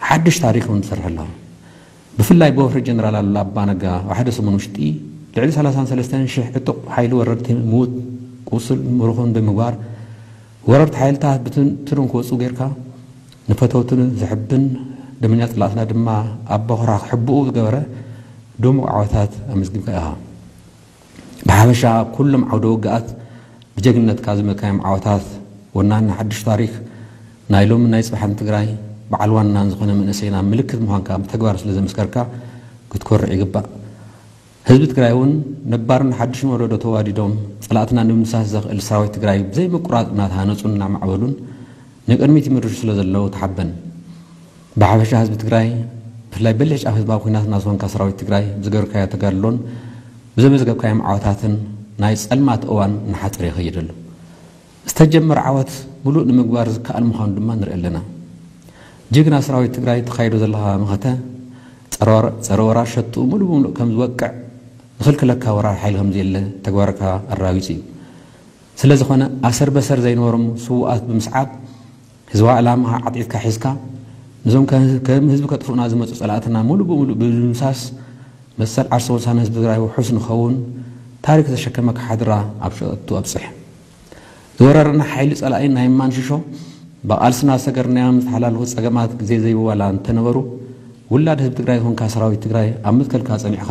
ሓድሽ ታሪክ እውን ትሰርሕ ኣለኻ። ብፍላይ ብወፍሪ ጀነራል ኣሉላ ኣባነጋ ኣብ ሓደ ሰሙን ውሽጢ ልዕሊ ሰላሳን ሰለስተን ሽሕ ዕጡቕ ሓይሊ ወረርቲ ምዉት፣ ቁሱል፣ ምሩኹን ብምግባር፣ ወረርቲ ሓይልታት ብትንትኖም ክወፁ ጌርካ፣ ንፈተውቱ ዘሕብን ደመኛ ፅላእትና ድማ ኣብ ቦኽራ ክሕብኡ ዝገበረ ድሙቕ ዓወታት ኣመዝጊብካ ኢኻ። ብሓፈሻ ኣብ ኩሎም ዓውደ ውግኣት ብጀግንነትካ ዝመካዮም ዓወታት ወናኒ ሓድሽ ታሪኽ ናይ ሎምን ናይ ጽባሕን ትግራይ በዓል ዋናን ዝኾነ መንእሰይና ምልክት ምዃንካ ብተግባር ስለ ዘመስከርካ ክትኮርዕ ይግባእ። ህዝቢ ትግራይ እውን ነባርን ሓድሽን ወለዶ ተዋዲዶም ጸላእትና ንምድምሳስ ዘኽእል ሰራዊት ትግራይ ብዘይ ምቁራጽ እናተሃነጹን እናማዕበሉን ንቅድሚት ይምርሹ ስለ ዘለዉ ተሓበን። ብሓፈሻ ህዝቢ ትግራይ ብፍላይ በሊሕ ጫፍ ህዝባዊ ኲናትና ዝኾንካ ሰራዊት ትግራይ ብዝገበርካዮ ተጋድሎን ብዘመዝገብካዮም ዓወታትን ናይ ጸልማት እዋን እናሓጸረ ይኸይድ ኣሎ። ዝተጀመረ ዓወት ምሉእ ንምግባር ዝከኣል ምዃኑ ድማ ንርኢ ኣለና። ጅግና ሰራዊት ትግራይ ተኻይዶ ዘለኻ መኸተ ጸረ ወራ ሸጡ ሙሉእ ብምሉእ ከም ዝወቅዕ ዝኽልክለካ ወራር ሓይሊ ከም ዘየለ ተግባርካ ኣራዊጹ እዩ። ስለ ዝኾነ ኣሰር በሰር ዘይነበሮም ስውኣት ብምስዓብ ህዝባዊ ዕላማ ዓጢጥካ ሒዝካ ነዞም ከም ህዝቢ ከጥፍኡና ዝመፁ ፀላእትና ሙሉእ ብምሉእ ብምድምሳስ መሰል ዓርሰ ወሳነ ህዝቢ ትግራይ ውሑስ ንኸውን ታሪክ ዘሸከመካ ሓድራ ኣብ ሸቱ ኣብፅሕ። ዝወረረና ሓይሊ ፀላኢ ናይ ማንሽሾ ብቓልስና ዝሰገርናዮም ዝተሓላለኹ ፀገማት ግዜ ዘይብዋላ እንተነበሩ ውላድ ህዝቢ ትግራይ ዝኾንካ ሰራዊት ትግራይ ኣብ ምትከልካ ፀኒዕካ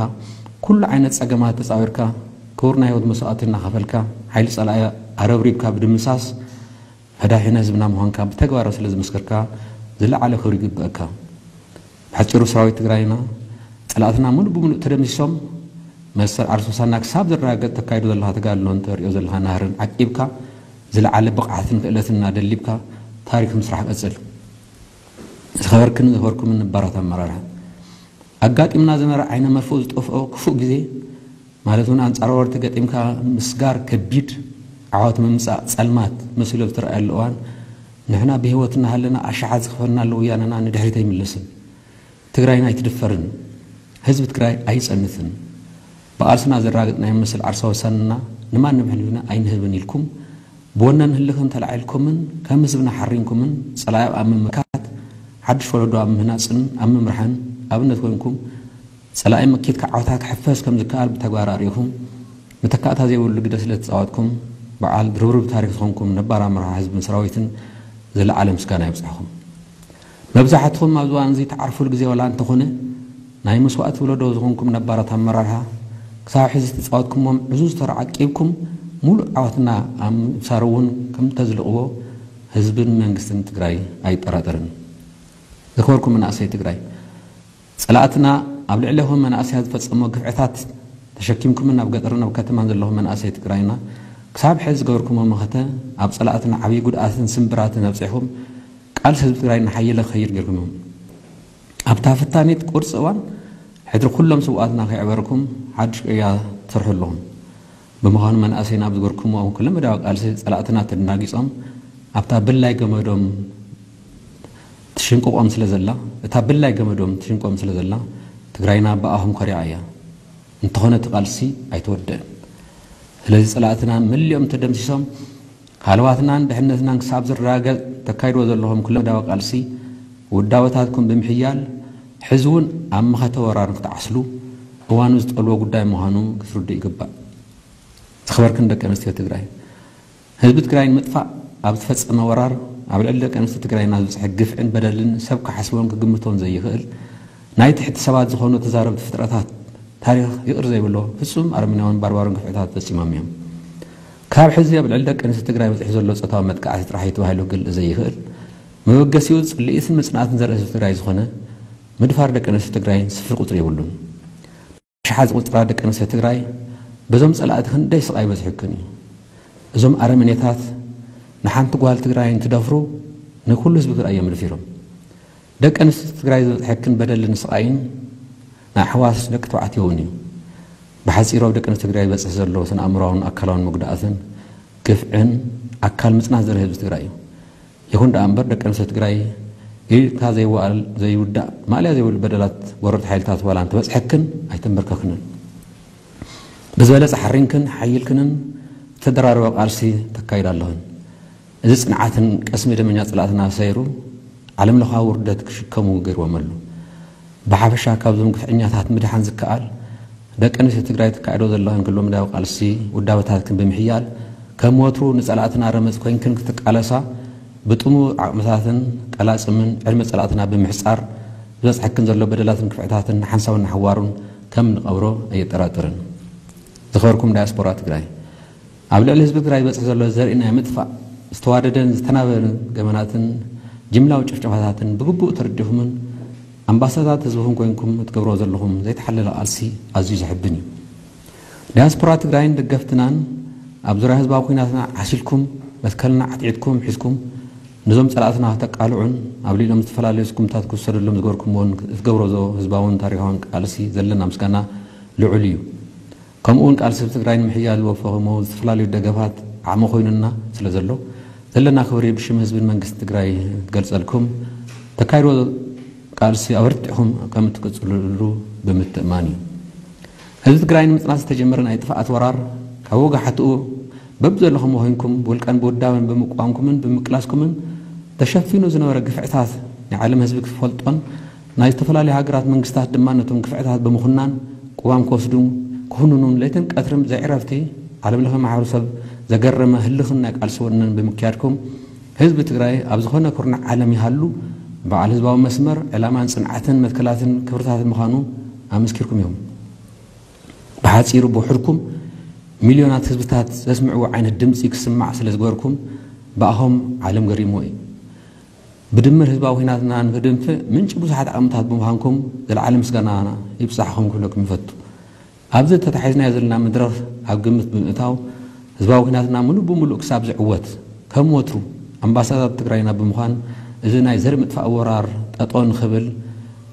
ኩሉ ዓይነት ፀገማት ተፃዊርካ ክቡር ናይ ህይወት መስዋእቲ እናኸፈልካ ሓይሊ ፀላኢ ኣረብሪብካ ብድምሳስ መዳሒነ ህዝብና ምዃንካ ብተግባር ስለ ዝመስከርካ ዝለዓለ ክብሪ ይግበአካ። ብሓፂሩ ሰራዊት ትግራይና ፀላእትና ሙሉእ ብምሉእ ተደምሲሶም መሰል ዓርሶሳና ክሳብ ዘረጋገጥ ተካይዶ ዘለካ ተጋድሎን ተሪኦ ዘለካ ናህርን ዓቂብካ ዝለዓለ ብቕዓትን ክእለትን እናደሊብካ ታሪክ ምስራሕ ቀፅል። ዝኸበርክን ዝኸበርኩምን ነባራት ኣመራርሓ ኣጋጢምና ዝነበረ ዓይነ መርፍኡ ዝጠፍኦ ክፉእ ግዜ ማለት እውን ኣንጻር ወረርቲ ገጢምካ ምስጋር ከቢድ ዓወት ምምጻእ ጸልማት መሲሉ ኣብ ዝተረኣየሉ እዋን ንሕና ብህይወት እናሃለና ኣሽሓት ዝኽፈልና ኣሎ ወያነና ንድሕሪት ኣይምለስን። ትግራይና ኣይትድፈርን። ህዝቢ ትግራይ ኣይጸንትን። ብቓልስና ዘረጋገጽናዮ መሰል ዓርሳዊ ውሳነና ንማንም ሕልፊና ኣይንህብን ኢልኩም ብወነን ህልኽን ተላዒልኩምን ከም ህዝብና ሓሪንኩምን ጸላኢ ኣብ ምምካት ሓድሽ ወለዶ ኣብ ምህናጽን ኣብ ምምራሕን ኣብነት ኮይንኩም ጸላኢ መኪትካ ዓወታት ክሕፈስ ከም ዝከኣል ብተግባር ኣርእኹም መተካእታ ዘይብሉ ግደ ስለ ተጻወትኩም በዓል ድርብርብ ታሪክ ዝኾንኩም ነባር ኣመራርሓ ህዝብን ሰራዊትን ዝለዓለ ምስጋና ይብጻሕኹም። መብዛሕትኹም ኣብዚ እዋን እዚ ትዓርፉሉ ግዜ ዋላ እንተኾነ ናይ መስዋእቲ ወለዶ ዝኾንኩም ነባራት ኣመራርሓ ክሳብ ሕዚ ዝተጻወትኩሞም ዕዙዝ ተራ ዓቂብኩም ሙሉእ ዓወትና ኣብ ምብሳር እውን ከም ተዝልቕዎ ህዝብን መንግስትን ትግራይ ኣይጠራጠርን። ዝኸበርኩም መናእሰይ ትግራይ ጸላእትና ኣብ ልዕሌኹም መናእሰያት ዝፈጸሞ ግፍዕታት ተሸኪምኩምን ኣብ ገጠርን ኣብ ከተማን ዘለኹም መናእሰይ ትግራይና ክሳብ ሕዚ ዝገበርኩሞ መኸተ ኣብ ጸላእትና ዓብዪ ጉድኣትን ስምብራትን ኣብጺሕኹም ቃልሲ ህዝቢ ትግራይ እናሓየለ ክኸይድ ጌርኩም ኢኹም። ኣብታ ፈታኒት ቁርፂ እዋን ሕድሪ ኩሎም ስውኣትና ከይዕበርኩም ሓድሽ ቅያ ትሰርሑ ኣለኹም። ብምዃኑ መናእሰይና ኣብ ዝገርኩሞ ኩለ መዳዊ ቃልሲ ፀላእትና ተደናጊፆም ኣብታ ብላይ ገመዶም ትሽንቅቆም ስለ ዘላ እታ ብላይ ገመዶም ትሽንቆም ስለ ዘላ ትግራይና ብኣኹም ኮሪዓ እያ። እንተኾነ እቲ ቃልሲ ኣይተወደእን። ስለዚ ፀላእትና መሊኦም ተደምሲሶም ሃለዋትናን ድሕነትናን ክሳብ ዝረጋገጽ ተካይድዎ ዘለኹም ኩለመዳዊ ቃልሲ ውዳበታትኩም ብምሕያል ሕዚ እውን ኣብ መኸተ ወራር ክትዓስሉ እዋኑ ዝጠልቦ ጉዳይ ምዃኑ ክትርድኡ ይግባእ። ዝኸበርክን ደቂ ኣንስትዮ ትግራይ ህዝቢ ትግራይ ንምጥፋእ ኣብ ዝተፈጸመ ወራር ኣብ ልዕሊ ደቂ ኣንስትዮ ትግራይና ዝበፅሐ ግፍዕን በደልን ሰብ ክሓስቦን ክግምቶን ዘይኽእል ናይ ትሕቲ ሰባት ዝኾኑ ተዛረብቲ ፍጥረታት ታሪኽ ይቕር ዘይብሎ ፍጹም ኣረመኔያውን ባርባርን ግፍዕታት ፈጺሞም እዮም። ካብ ሕዚ ኣብ ልዕሊ ደቂ ኣንስትዮ ትግራይ በፂሑ ዘሎ ፆታዊ መጥቃዕቲ ጥራሕ እዩ ተባሂሉ ክግልፅ ዘይኽእል መበገሲኡ ፅልኢትን ምፅናትን ዘርኢ ህዝቢ ትግራይ ዝኾነ ምድፋር ደቂ ኣንስትዮ ትግራይ ስፍሪ ቁፅሪ የብሉን። ኣሽሓት ዝቑፅራ ደቂ ኣንስትዮ ትግራይ በዞም ፀላእቲ ክንደይ ስቓይ በፂሑክን እዩ። እዞም ኣረመኔታት ንሓንቲ ጓል ትግራይ እንትደፍሩ ንኩሉ ህዝቢ ትግራይ እዮም ደፊሮም። ደቂ ኣንስትዮ ትግራይ ዝበፅሐክን በደልን ስቓይን ንኣሕዋት ደቂ ተባዕትዮ እውን እዩ። ብሓፂሩ ኣብ ደቂ ኣንስትዮ ትግራይ ዝበፅሕ ዘሎ ስነ ኣእምሮኣውን ኣካላውን መጉዳእትን ግፍዕን ኣካል ምፅናት ዘርኢ ህዝቢ ትግራይ እዩ። ይኹን ደኣ እምበር ደቂ ኣንስትዮ ትግራይ ኢልካ ዘይወኣል ዘይውዳእ ማእለያ ዘይብሉ በደላት ወረርቲ ሓይልታት ዋላ እንተበፅሐክን ኣይተንበርከክንን። ብዝበለፀ ሓሪንክን ሓይልክንን ዝተደራረበ ቃልሲ ተካይዳ ኣለኽን። እዚ ፅንዓትን ቅስሚ ደመኛ ፀላእትና ሰይሩ ዓለም ለኻዊ ውርደት ክሽከሙ ገይርዎም ኣሎ። ብሓፈሻ ካብዞም ግፍዐኛታት ምድሓን ዝከኣል፣ ደቂ ኣንስትዮ ትግራይ ተካይዶ ዘለኽን ክሎ ምድያዊ ቃልሲ ውዳበታትክን ብምሕያል፣ ከም ወትሩ ንጸላእትና ረመጽ ኮይንክን ክትቃለሳ፣ ብጥሙር ዓቕምታትን ቀላጽምን ዕድመ ጸላእትና ብምሕጻር፣ ዝበጽሐክን ዘሎ በደላትን ክፍዕታትን ሓንሳውን ንሓዋሩን ከም ንቐብሮ ኣየጠራጥርን። ዝኸበርኩም ዳያስፖራ ትግራይ፣ ኣብ ልዕሊ ህዝቢ ትግራይ ዝበጽሕ ዘሎ ዘርኢ ናይ ምጥፋእ ዝተዋደደን ዝተናበበን ገበናትን ጅምላዊ ጭፍጨፋታትን ብግቡእ ተረዲኹምን ኣምባሳዳት ህዝብኹም ኮይንኩም እትገብርዎ ዘለኹም ዘይተሓለለ ቃልሲ ኣዝዩ ዘሕብን እዩ። ዳያስፖራ ትግራይን ደገፍትናን ኣብ ዙርያ ህዝባዊ ኩናትና ዓሲልኩም፣ መትከልና ዓትዒትኩም ሒዝኩም፣ ነዞም ጸላእትና ከተቃልዑን ኣብ ልዕሊኦም ዝተፈላለዩ ስጉምታት ክውሰደሎም ዝገበርኩምዎን እትገብሮ ዘሎ ህዝባውን ታሪኻውን ቃልሲ ዘለና ምስጋና ልዑል እዩ። ከምኡ እውን ቃልሲ ህዝቢ ትግራይ ንምሕያል ዝወፈኹሞ ዝተፈላለዩ ደገፋት ዓቕሚ ኮይኑና ስለ ዘሎ፣ ዘለና ክብሪ ብሽም ህዝብን መንግስቲ ትግራይ ክገልጸልኩም፣ ተካይድዎ ቃልሲ ኣበርቲዕኹም ከም እትቅጽልሉ ብምትእማን እዩ። ህዝቢ ትግራይ ንምጽናት ዝተጀመረ ናይ ጥፍኣት ወራር ካብ ወጋሕትኡ በብዘለኹም ኮይንኩም ብውልቀን ብውዳበን ብምቋምኩምን ብምቅላስኩምን ተሸፊኑ ዝነበረ ግፍዕታት ናይ ዓለም ህዝቢ ክፈልጦን ናይ ዝተፈላለዩ ሃገራት መንግስታት ድማ ነቶም ግፍዕታት ብምኹናን ቅዋም ክወስዱ ክኹንኑን ለይትን ቀትርን ብዘይዕረፍቲ ዓለም ለኸ ማሕበረሰብ ዘገረመ ህልኽን ናይ ቃልሲ ወነን ብምክያድኩም ህዝቢ ትግራይ ኣብ ዝኾነ ኩርናዕ ዓለም ይሃሉ በዓል ህዝባዊ መስመር ዕላማን ጽንዓትን መትከላትን ክብርታትን ምዃኑ ኣመስኪርኩም ኢኹም። ብሓጺሩ ብውሕድኩም ሚልዮናት ህዝብታት ዘስምዕዎ ዓይነት ድምጺ ክስማዕ ስለ ዝገበርኩም ብኣኹም ዓለም ገሪምዎ እዩ። ብድምር ህዝባዊ ኩናትና ንክድንፍዕ ምንጪ ብዙሓት ዓቕምታት ብምዃንኩም ዘለዓለ ምስጋና ይብጻሕኹም ክብለኩም ይፈቱ። ኣብዚ ተታሒዝናዮ ዘለና መድረኽ ኣብ ግምት ብምእታው ህዝባዊ ኩናትና ምሉእ ብምሉእ ክሳብ ዝዕወት ከም ወትሩ ኣምባሳዳር ትግራይና ብምዃን እዚ ናይ ዘርኢ ምጥፋእ ወራር ጠጠው ንክብል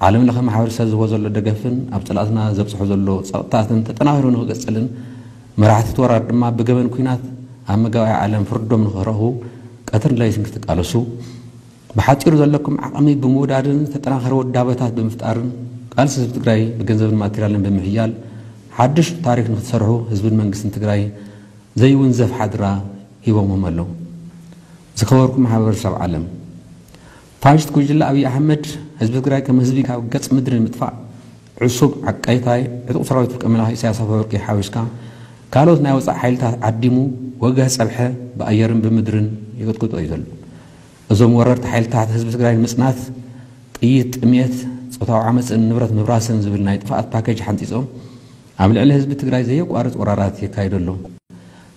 ዓለም ለኸ ማሕበረሰብ ዝህቦ ዘሎ ደገፍን ኣብ ጸላእትና ዘብጽሖ ዘሎ ጸቕጥታትን ተጠናኺሩ ንክቅጽልን መራሕቲ እቲ ወራር ድማ ብገበን ኩናት ኣብ መጋባእያ ዓለም ፍርዶም ንክረኽቡ ቀትርን ለይትን ክትቃለሱ ብሓጺሩ ዘለኩም ዓቕሚ ብምውዳድን ዝተጠናኸረ ውዳበታት ብምፍጣርን ቃልሲ ህዝቢ ትግራይ ብገንዘብን ማቴሪያልን ብምሕያል ሓድሽ ታሪክ ንክትሰርሑ ህዝብን መንግስትን ትግራይ ዘይውንዘፍ ሓድራ ሂቦምዎም ኣለዉ። ዝኸበርኩም ማሕበረሰብ ዓለም፣ ፋሽስት ጉጅለ ኣብይ ኣሕመድ ህዝቢ ትግራይ ከም ህዝቢ ካብ ገጽ ምድሪ ንምጥፋእ ዕሱብ ዓቃይታይ ዕጡቕ ሰራዊት ውልቀ መላኺ ኢሳያስ ኣፈወርቂ ሓዊስካ ካልኦት ናይ ወጻኢ ሓይልታት ዓዲሙ ወገህ ጸብሐ ብኣየርን ብምድርን ይቅጥቅጦ እዩ ዘሎ። እዞም ወረርቲ ሓይልታት ህዝቢ ትግራይ ንምጽናት ጥይት፣ ጥሜት፣ ጾታዊ ዓመፅን ንብረት ምብራስን ዝብል ናይ ጥፍኣት ፓኬጅ ሓንፂፆም ኣብ ልዕሊ ህዝቢ ትግራይ ዘየቋርፅ ወራራት የካይዱ ኣለዉ።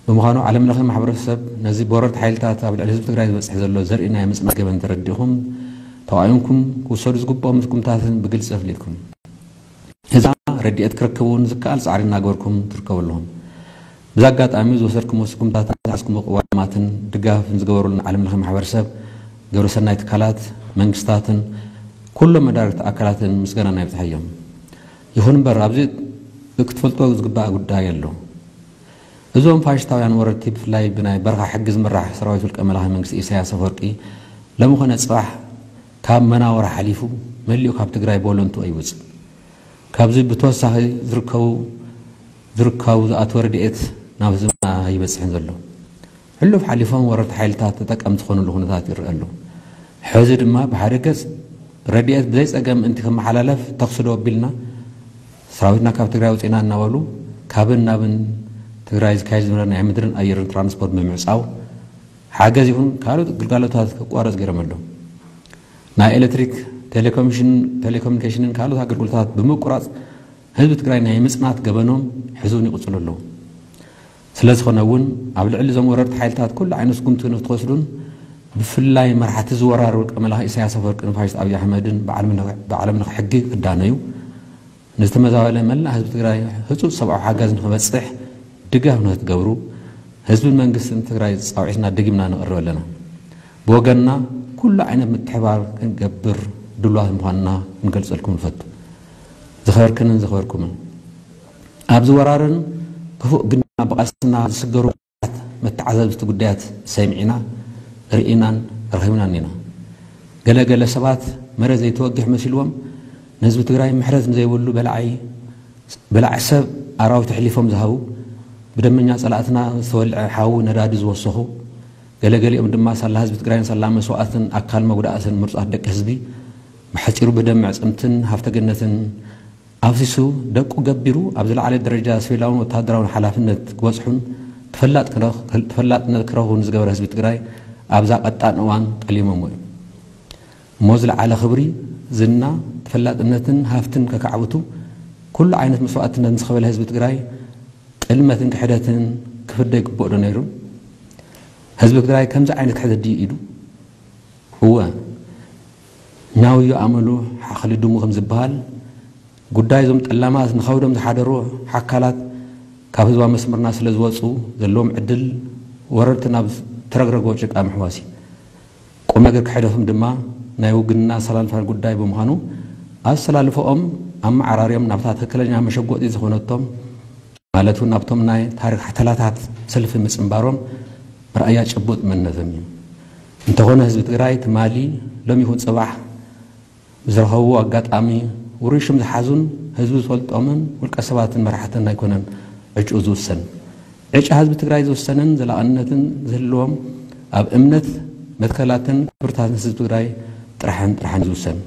ብምዃኑ ዓለም ለኸ ማሕበረሰብ ነዚ ብወረርቲ ሓይልታት ኣብ ልዕሊ ህዝቢ ትግራይ ዝበፅሕ ዘሎ ዘርኢ ናይ ምፅናት ገበን ተረዲእኹም ተዋኢንኩም ክውሰዱ ዝግብኦም ስጉምታትን ብግልፂ ኣፍሊጥኩም ህዝብና ረድኤት ክረክብ እውን ዝከኣል ፃዕሪ እናገበርኩም ትርከቡ ኣለኹም። ብዚ ኣጋጣሚ ዝወሰድኩሞ ስጉምታትን ዝሓዝኩሞ ቅዋማትን ድጋፍን ዝገበሩልና ዓለም ለኸ ማሕበረሰብ፣ ግብረሰናይ ትካላት፣ መንግስታትን ኩሎም መዳርግቲ ኣካላትን ምስጋናና ይብፅሓዮም። ይኹን እምበር ኣብዚ ክትፈልጦ ዝግባእ ጉዳይ ኣሎ። እዞም ፋሽስታውያን ወረርቲ ብፍላይ ብናይ በረኻ ሕጊ ዝምራሕ ሰራዊት ውልቀ መላኺ መንግስቲ ኢሳያስ ኣፈወርቂ ሎሚ ኮነ ፅባሕ ካብ መናወራ ሓሊፉ መሊኡ ካብ ትግራይ ብወለንትኡ ኣይወፅእ። ካብዚ ብተወሳኺ ዝርከቡ ዝርከቡ ዝኣተወ ረድኤት ናብ ህዝብና ኣይበፅሕን ዘሎ። ሕሉፍ ሓሊፎም ወረርቲ ሓይልታት ተጠቀምቲ ዝኾኑሉ ኩነታት ይረአ ኣሎ። ሕዚ ድማ ብሓደ ገፅ ረድኤት ብዘይ ፀገም ምእንቲ ክመሓላለፍ ተኽሲ ዶ ኣቢልና ሰራዊትና ካብ ትግራይ ኣውፂእና እናበሉ ካብን ናብን ትግራይ ዝካየድ ዝነበረ ናይ ምድርን ኣየርን ትራንስፖርት ብምዕፃው ሓገዝ ይኹን ካልኦት ግልጋሎታት ክቋረፅ ገይሮም ኣለዉ። ናይ ኤሌክትሪክ፣ ቴሌኮሚሽን፣ ቴሌኮሙኒኬሽንን ካልኦት ኣገልግሎታት ብምቁራፅ ህዝቢ ትግራይ ናይ ምፅናት ገበኖም ሕዚ እውን ይቕፅሉ ኣለዉ። ስለ ዝኾነ እውን ኣብ ልዕሊ እዞም ወረርቲ ሓይልታት ኩሉ ዓይነት ስጉምቲ ንክትወስዱን ብፍላይ መራሕቲ ዝወራር ውልቀ መላኺ ኢሳያስ ኣፈወርቂ ንፋሽስት ኣብይ ኣሕመድን ብዓለም ለኸ ሕጊ ክዳነዩ ንዝተመዛበለ መላእ ህዝቢ ትግራይ ህፁፅ ሰብኣዊ ሓገዝ ንክበፅሕ ድጋፍ ንክትገብሩ ህዝብን መንግስትን ትግራይ ፃውዒትና ደጊምና ነቕርብ ኣለና። ብወገንና ኩሉ ዓይነት ምትሕባር ክንገብር ድሉዋት ምዃንና ክንገልፀልኩም ንፈቱ። ዝኸበርክንን ዝኸበርኩምን ኣብዚ ወራርን ክፉእ ግን ድማ ብቃልስና ዝስገሩ መተዓዘብቲ ጉዳያት ሰሚዕና ርኢናን ረኺብናን ኢና። ገለ ገለ ሰባት መሬት ዘይተወግሕ መሲልዎም ንህዝቢ ትግራይ ምሕረት ንዘይብሉ በላዓይ በላዕ ሰብ ኣራዊት ኣሕሊፎም ዝሃቡ ብደመኛ ፀላእትና ዝተወልዐ ሓዊ ነዳዲ ዝወሰኹ ገለገሊኦም ድማ ሳላ ህዝቢ ትግራይን ሳላ መስዋእትን ኣካል መጉዳእትን ምርፃት ደቂ ህዝቢ ብሓጺሩ ብደም መዕጽምትን ሃፍተ ገነትን ኣፍሲሱ ደቁ ገቢሩ ኣብ ዝለዓለ ደረጃ ሲቪላውን ወተሃደራውን ሓላፍነት ክበጽሑን ተፈላጥነት ክረኽቡን ዝገበረ ህዝቢ ትግራይ ኣብዛ ቀጣን እዋን ጠሊሞሞ እዩ። እሞ ዝለዓለ ክብሪ፣ ዝና፣ ተፈላጥነትን ሃፍትን ከካዕብቱ ኩሉ ዓይነት መስዋእትነት ዝኸፈለ ህዝቢ ትግራይ ጥልመትን ክሕደትን ክፍደ ይግብኦ ዶ ነይሩ? ህዝቢ ትግራይ ከምዚ ዓይነት ክሕደት ድዩ ኢዱ? እወ፣ ኛውዮ ኣመሉ ሓኽሊ ድሙ ከም ዝበሃል፣ ጉዳይ እዞም ጠላማት ንኸብዶም ዝሓደሩ ሓካላት ካብ ህዝባዊ መስመርና ስለ ዝወፁ ዘለዎም ዕድል ወረርቲ ናብ ተረግረጎ ጭቃ ምሕዋስ እዩ። ቁም ነገር ክሕደቶም ድማ ናይ ውግንና ኣሰላልፋ ጉዳይ ብምዃኑ ኣሰላልፈኦም ኣመዓራርዮም ናብታ ትክክለኛ መሸጎጢ ዝኾነቶም ማለት እውን ኣብቶም ናይ ታሪክ ሓተላታት ሰልፊ ምጽንባሮም መርኣያ ጭቡጥ መንነቶም እዩ። እንተኾነ ህዝቢ ትግራይ ትማሊ ሎም ይኹን ጽባሕ ብዝረኸብዎ ኣጋጣሚ ውሩይ ሽም ዝሓዙን ህዝቢ ዝፈልጦምን ውልቀ ሰባትን መራሕትን ኣይኮነን ዕጭኡ ዝውሰን። ዕጫ ህዝቢ ትግራይ ዝውሰንን ዘላቕነትን ዝህልዎም ኣብ እምነት መትከላትን ክብርታትን ህዝቢ ትግራይ ጥራሕን ጥራሕን ዝውሰን።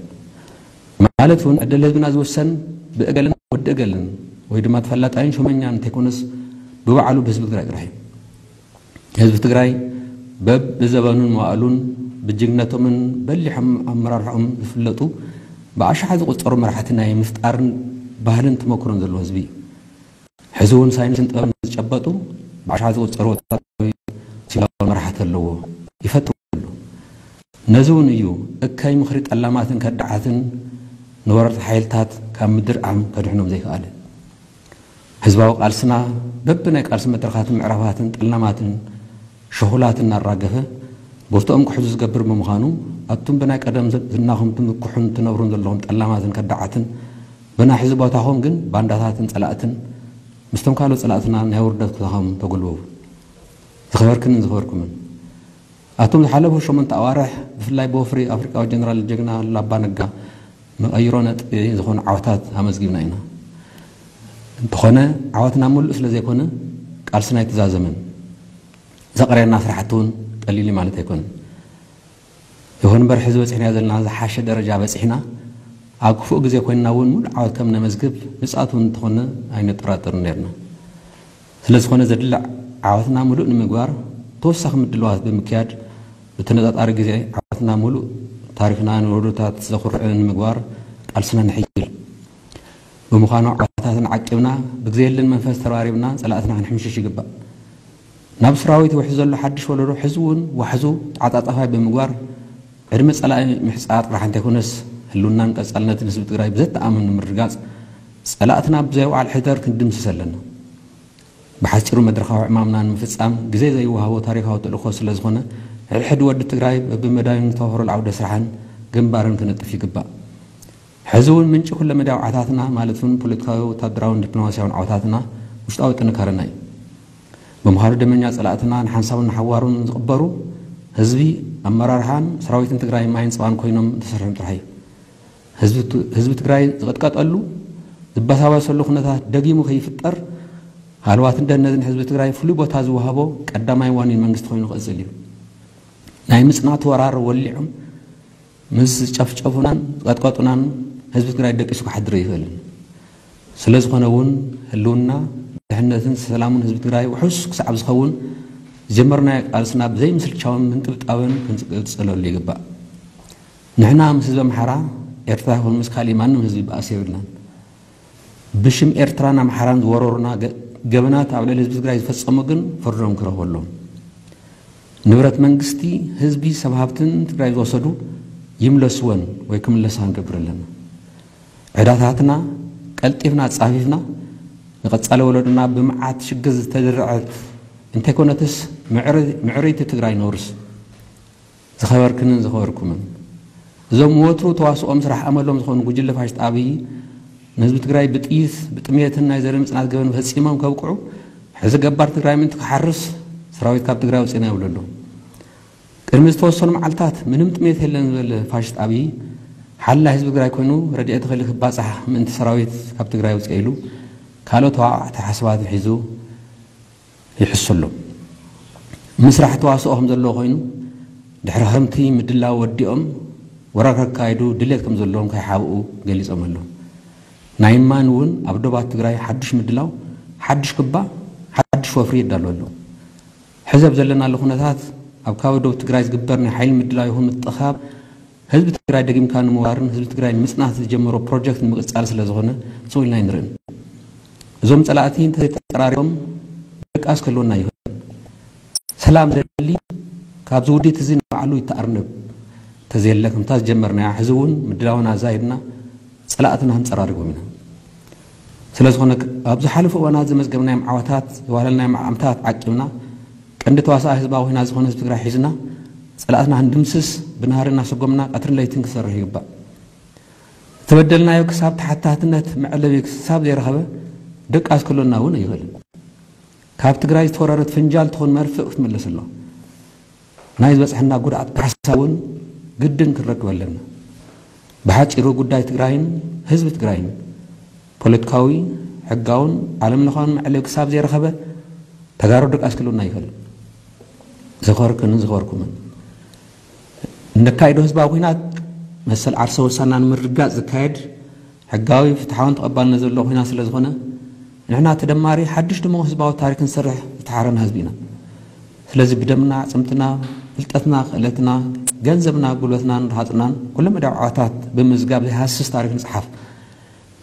ማለት እውን ዕድል ህዝብና ዝውሰን ብእገልን ወዲ እገልን ወይ ድማ ተፈላጣይን ሹመኛን እንተይኮነስ ብባዕሉ ብህዝቢ ትግራይ ጥራሕ እዩ። ህዝቢ ትግራይ በብዘበኑን መዋእሉን ብጅግነቶምን በሊሖም ኣመራርሖም ዝፍለጡ ብኣሽሓት ዝቁፀሩ መራሕቲ ናይ ምፍጣርን ባህልን ተመክሮን ዘለዎ ህዝቢ እዩ። ሕዚ እውን ሳይንስን ጥበብን ዝጨበጡ ብኣሽሓት ዝቁፀሩ ወታደራዊ ሲቪላዊ መራሕቲ ኣለዎ። ይፈትው ኣሎ። ነዚ እውን እዩ እከይ ምኽሪ ጠላማትን ከዳዓትን ንወረርቲ ሓይልታት ካብ ምድር ዓም ከድሕኖም ዘይከኣለ። ህዝባዊ ቃልስና በብናይ ቃልሲ መድረኻትን ምዕራፋትን ጠላማትን ሸኹላትን እናራገፈ ቦርትኦም ክሕዙ ዝገብር ብምዃኑ ኣቱም ብናይ ቀደም ዝናኹም ትምክሑን ትነብሩን ዘለኹም ጠላማትን ከዳዓትን ብናይ ሕዚ ቦታኹም ግን ባንዳታትን ጸላእትን ምስቶም ካልኦት ጸላእትና ናይ ውርደት ኩታኹም ተጉልበቡ። ዝኸበርክንን ዝኸበርኩምን ኣቱም ዝሓለፉ ሸሞንተ ኣዋርሕ ብፍላይ ብወፍሪ ኣፍሪቃዊ ጀነራል ጀግና ኣሉላ ኣባ ነጋ መቐይሮ ነጥቢ ዝኾኑ ዓወታት ኣመዝጊብና ኢና። እንተኾነ ዓወትና ሙሉእ ስለ ዘይኮነ ቃልስና ኣይተዛዘመን። ዘቕረየና ስራሕቲ እውን ቀሊል እዩ ማለት ኣይኮነን። ይኹን እምበር ሕዚ በፂሕናዮ ዘለና ዝሓሸ ደረጃ በፂሕና ኣብ ክፉእ ግዜ ኮይንና እውን ሙሉእ ዓወት ከም ነመዝግብ ንፅኣት እውን እንተኾነ ኣይንጠራጠርን ነይርና። ስለ ዝኾነ ዘድሊ ዓወትና ሙሉእ ንምግባር ተወሳኺ ምድልዋት ብምክያድ ብተነፃፃሪ ግዜ ዓወትና ሙሉእ ታሪኽና ንወለዶታት ዘኹርዕ ንምግባር ቃልስና ንሕይል። ብምዃኑ ዓወታትና ዓቂብና ብግዜ የለን መንፈስ ተረባሪብና ፀላእትና ክንሕምሽሽ ይግባእ። ናብ ሰራዊት ይውሕዝ ዘሎ ሓድሽ ወለዶ ሕዚ እውን ዋሕዙ ተዓፃፃፋይ ብምግባር ዕድመ ፀላኢ ምሕፃር ጥራሕ እንተይኮነስ ህልውናን ቀፃልነትን ህዝቢ ትግራይ ብዘተኣማምን ንምርግጋፅ ፀላእትና ብዘይ ውዓል ሕደር ክንድምስስ ኣለና። ብሓፂሩ መድረኻዊ ዕማምና ንምፍፃም ግዜ ዘይወሃቦ ታሪኻዊ ተልእኮ ስለ ዝኾነ ሕድሕድ ወዲ ትግራይ በብመዳዩን ዝተዋፈረሉ ዓውደ ስራሕን ግንባርን ክነጥፍ ይግባእ። ሕዚ እውን ምንጪ ኩለመዳያዊ ዓወታትና ማለት እውን ፖለቲካዊ፣ ወታደራውን ዲፕሎማሲያውን ዓወታትና ውሽጣዊ ጥንካረና እዩ። ብምዃኑ ደመኛ ፀላእትና ንሓንሳቡን ንሓዋሩን ዝቕበሩ ህዝቢ፣ ኣመራርሓን ሰራዊትን ትግራይ ማይን ፀባን ኮይኖም እንተሰርሖም ጥራሕ እዩ። ህዝቢ ት-፣ ህዝቢ ትግራይ ዝቕጥቀጠሉ ዝበሳበሰሉ ኩነታት ደጊሙ ከይፍጠር ሃለዋትን ደህንነትን ህዝቢ ትግራይ ፍሉይ ቦታ ዝወሃቦ ቀዳማይ ዋኒን መንግስቲ ኮይኑ ክቕፅል እዩ። ናይ ምፅናት ወራር ወሊዖም ምስ ዝጨፍጨፉናን ዝቐጥቀጡናን ህዝቢ ትግራይ ደቂሱ ክሓድር ኣይኽእልን። ስለ ዝኾነ እውን ህልውና፣ ድሕነትን ሰላሙን ህዝቢ ትግራይ ውሑስ ክሳዕ ዝኸውን ዝጀመርናዮ ቃልስና ብዘይምስልቻውን ምንጥብጣብን ክንቅፅለሉ ይግባእ። ንሕና ምስ ህዝቢ ኣምሓራ፣ ኤርትራ ይኹን ምስ ካሊእ ማንም ህዝቢ ባእሲ የብልናን። ብሽም ኤርትራን ኣምሓራን ዝወረሩና ገ-፣ ገበናት ኣብ ልዕሊ ህዝቢ ትግራይ ዝፈጸሙ ግን ፍርዶም ክረኽቡ ኣለዎም። ንብረት መንግስቲ፣ ህዝቢ፣ ሰብ ሃብትን ትግራይ ዝወሰዱ ይምለስወን ወይ ክምለሳ ክንገብር ኣለና። ዕዳታትና ቀልጢፍና ኣጻፊፍና ንቐጻሊ ወለዶና ብመዓት ሽግር ዝተደረዐት እንተይኮነትስ ምዕሪ-፣ ምዕርይቲ ትግራይ ነውርስ። ዝኸበርክንን ዝኸበርኩምን፣ እዞም ወትሩ ተዋስኦም ስራሕ ኣመሎም ዝኾኑ ጉጅለ ፋሽስት ኣብይ ንህዝቢ ትግራይ ብጥይት፣ ብጥሜትን ናይ ዘርኢ ምጽናት ገበን ፈጺሞም ከብቅዑ፣ ሕዚ ገባር ትግራይ ምእንቲ ክሓርስ ሰራዊት ካብ ትግራይ ኣውጺእና ይብሉ ኣለዉ። ቅድሚ ዝተወሰኑ መዓልታት ምንም ጥሜት የለን ዝበለ ፋሽስት ኣብይ ሓላይ ህዝቢ ትግራይ ኮይኑ ረድኤት እኽሊ ክባጻሕ ምእንቲ ሰራዊት ካብ ትግራይ ኣውጽእ ኢሉ ካልኦት ተባባዕቲ ሓሳባትን ሒዙ ይሕሱ ኣሎ። ምስራሕ ተዋስኦ ከም ዘለዎ ኮይኑ፣ ድሕሪ ክረምቲ ምድላው ወዲኦም ወራር ከካይዱ ድሌት ከም ዘለዎም ከይሓብኡ ገሊጾም ኣለዉ። ናይ እማን እውን ኣብ ዶባት ትግራይ ሓድሽ ምድላው፣ ሓድሽ ክባ፣ ሓድሽ ወፍሪ ይዳሎ ኣሎ። ሕዚ ኣብ ዘለናሉ ኩነታት ኣብ ከባቢ ዶብ ትግራይ ዝግበር ናይ ሓይሊ ምድላው ይኹን ምጥኻብ ህዝቢ ትግራይ ደጊምካ ንምውራርን ህዝቢ ትግራይ ንምፅናት ዝጀመሮ ፕሮጀክት ንምቅፃል ስለ ዝኾነ ስው ኢልና ኣይንርእን። እዞም ፀላእቲ እንተዘይተፀራሪቦም ድቃስ ክህልወና ይኽእል። ሰላም ዘድሊ ካብዚ ውዲት እዚ ንባዕሉ ይተኣርነብ። ተዘየለ ከምታ ዝጀመርናያ ሕዚ እውን ምድላውና ኣዛይድና ፀላእትና ክንፀራርቦም ኢና። ስለ ዝኾነ ኣብ ዝሓለፉ እዋናት ዘመዝገብናዮም ዓወታት፣ ዘዋህለልናዮም ዓምታት ዓቂብና ቀንዲ ተዋሳኢ ህዝባዊ ኩናት ዝኾነ ህዝቢ ትግራይ ሒዝና ፀላእትና ክንድምስስ ብናህሪ እናሰጎምና ቀትርን ለይትን ክንሰርሕ ይግባእ። ዝተበደልናዮ ክሳብ ተሓታትነት መዕለቢ ክሳብ ዘይረኸበ ድቃስ ክህልወና እውን ኣይኽእልን። ካብ ትግራይ ዝተወረረት ፍንጃል ትኹን መርፍእ ክትምለስ ኣሎ። ናይ ዝበፅሐና ጉድኣት ካሕሳ እውን ግድን ክንረክብ ኣለና። ብሓፂሩ ጉዳይ ትግራይን ህዝቢ ትግራይን ፖለቲካዊ፣ ሕጋውን ዓለም ለኻውን መዕለቢ ክሳብ ዘይረኸበ ተጋሩ ድቃስ ክህልወና ኣይኽእልን። ዝኸበርክንን ዝኸበርኩምን፣ እነካይዶ ህዝባዊ ኩናት መሰል ዓርሰ ውሳና ንምርግጋፅ ዝካየድ ሕጋዊ፣ ፍትሓውን ተቐባልነት ዘለዎ ኩናት ስለ ዝኾነ ንሕና ተደማሪ ሓድሽ ድሙቕ ህዝባዊ ታሪክ ክንሰርሕ ዝተሓረና ህዝቢ ኢና። ስለዚ ብደምና፣ ኣዕፅምትና፣ ፍልጠትና፣ ክእለትና፣ ገንዘብና፣ ጉልበትናን ረሃፅናን ኩለ መዳይ ዓወታት ብምምዝጋብ ዘይሃስስ ታሪክ ንፅሓፍ።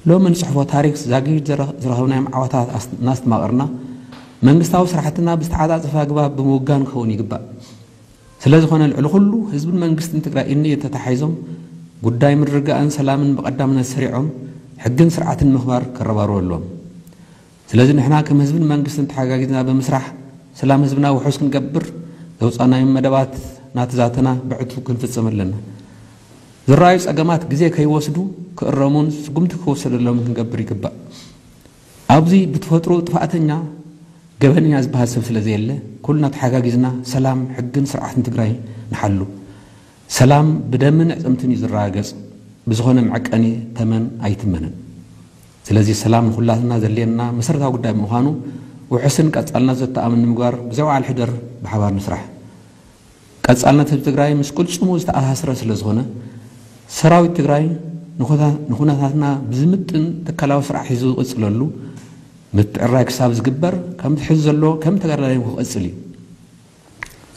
ሎሚ ንፅሕፎ ታሪክ ዛጊድ ዝረ- ዝረኸብናዮም ዓወታት ኣስ- እናስተማቐርና መንግስታዊ ስራሕትና ብዝተዓፃፀፈ ኣግባብ ብምውጋን ክኸውን ይግባእ። ስለ ዝኾነ ልዕሊ ኩሉ ህዝብን መንግስትን ትግራይ እኒ ተታሓሒዞም ጉዳይ ምርግጋእን ሰላምን ብቐዳምነት ሰሪዖም ሕግን ስርዓትን ምኽባር ከረባርቡ ኣለዎም። ስለዚ ንሕና ከም ህዝብን መንግስትን ተሓጋጊዝና ብምስራሕ ሰላም ህዝብና ውሑስ ክንገብር ዘውፃእናዮም መደባት ናተዛተና ብዕቱብ ክንፍፅም ኣለና። ዝረኣዩ ፀገማት ግዜ ከይወስዱ ክእረሙን ስጉምቲ ክውሰደሎምን ክንገብር ይግባእ። ኣብዚ ብተፈጥሮ ጥፋእተኛ ገበነኛ ዝበሃል ሰብ ስለ ዘየለ ኩልና ተሓጋጊዝና ሰላም፣ ሕግን ስርዓትን ትግራይ ንሓሉ። ሰላም ብደምን ዕፅምትን እዩ ዝረጋገፅ፣ ብዝኾነ መዐቀኒ ተመን ኣይትመንን። ስለዚ ሰላም ንኩላትና ዘድልየና መሰረታዊ ጉዳይ ብምዃኑ ውሑስን ቀፃልነት ዘተኣምን ንምግባር ብዘይ ወዓል ሕደር ብሓባር ንስራሕ። ቀፃልነት ህዝቢ ትግራይ ምስ ቅልፅሙ ዝተኣሳሰረ ስለ ዝኾነ ሰራዊት ትግራይ ንኹታ- ንኹነታትና ብዝምጥን ትካላዊ ስራሕ ሒዙ ዝቕፅለሉ ምትዕራይ ክሳብ ዝግበር ከምቲ ሕዚ ዘሎ ከም ተጋዳላይ ክቕፅል እዩ።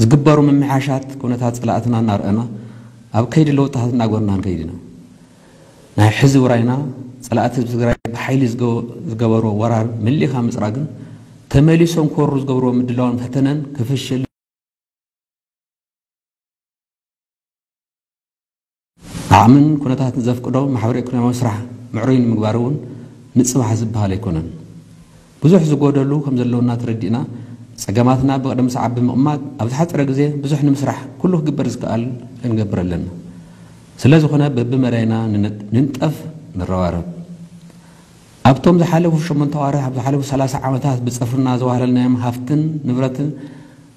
ዝግበሩ ምምሕያሻት ኩነታት ፀላእትና እናርኣና ኣብ ከይዲ ለውጥታት እናጎርና ንከይድ ኢና። ናይ ሕዚ ውራይና ፀላእቲ ህዝቢ ትግራይ ብሓይሊ ዝገ- ዝገበርዎ ወራር መሊእኻ ምፅራግን ተመሊሶም ክወሩ ዝገብርዎ ምድላውን ፈተነን ክፍሽል ዓቕምን ኩነታትን ዘፍቅዶ ማሕበረ ኢኮኖሚያዊ ስራሕ ምዕሩይ ንምግባር እውን ንፅባሕ ዝበሃል ኣይኮነን። ብዙሕ ዝጎደሉ ከም ዘለውና ተረዲእና ፀገማትና ብቕደም ሰዓብ ብምቕማጥ ኣብ ዝሓፀረ ግዜ ብዙሕ ንምስራሕ ኩሉ ክግበር ዝከኣል ክንገብር ኣለና። ስለ ዝኾነ በብመዳይና ንነ- ንንጠፍ ንረባረብ። ኣብቶም ዝሓለፉ ሸሞንተ ኣዋርሕ ኣብ ዝሓለፉ ሰላሳ ዓመታት ብፅፍርና ዘዋህለልናዮም ሃፍትን ንብረትን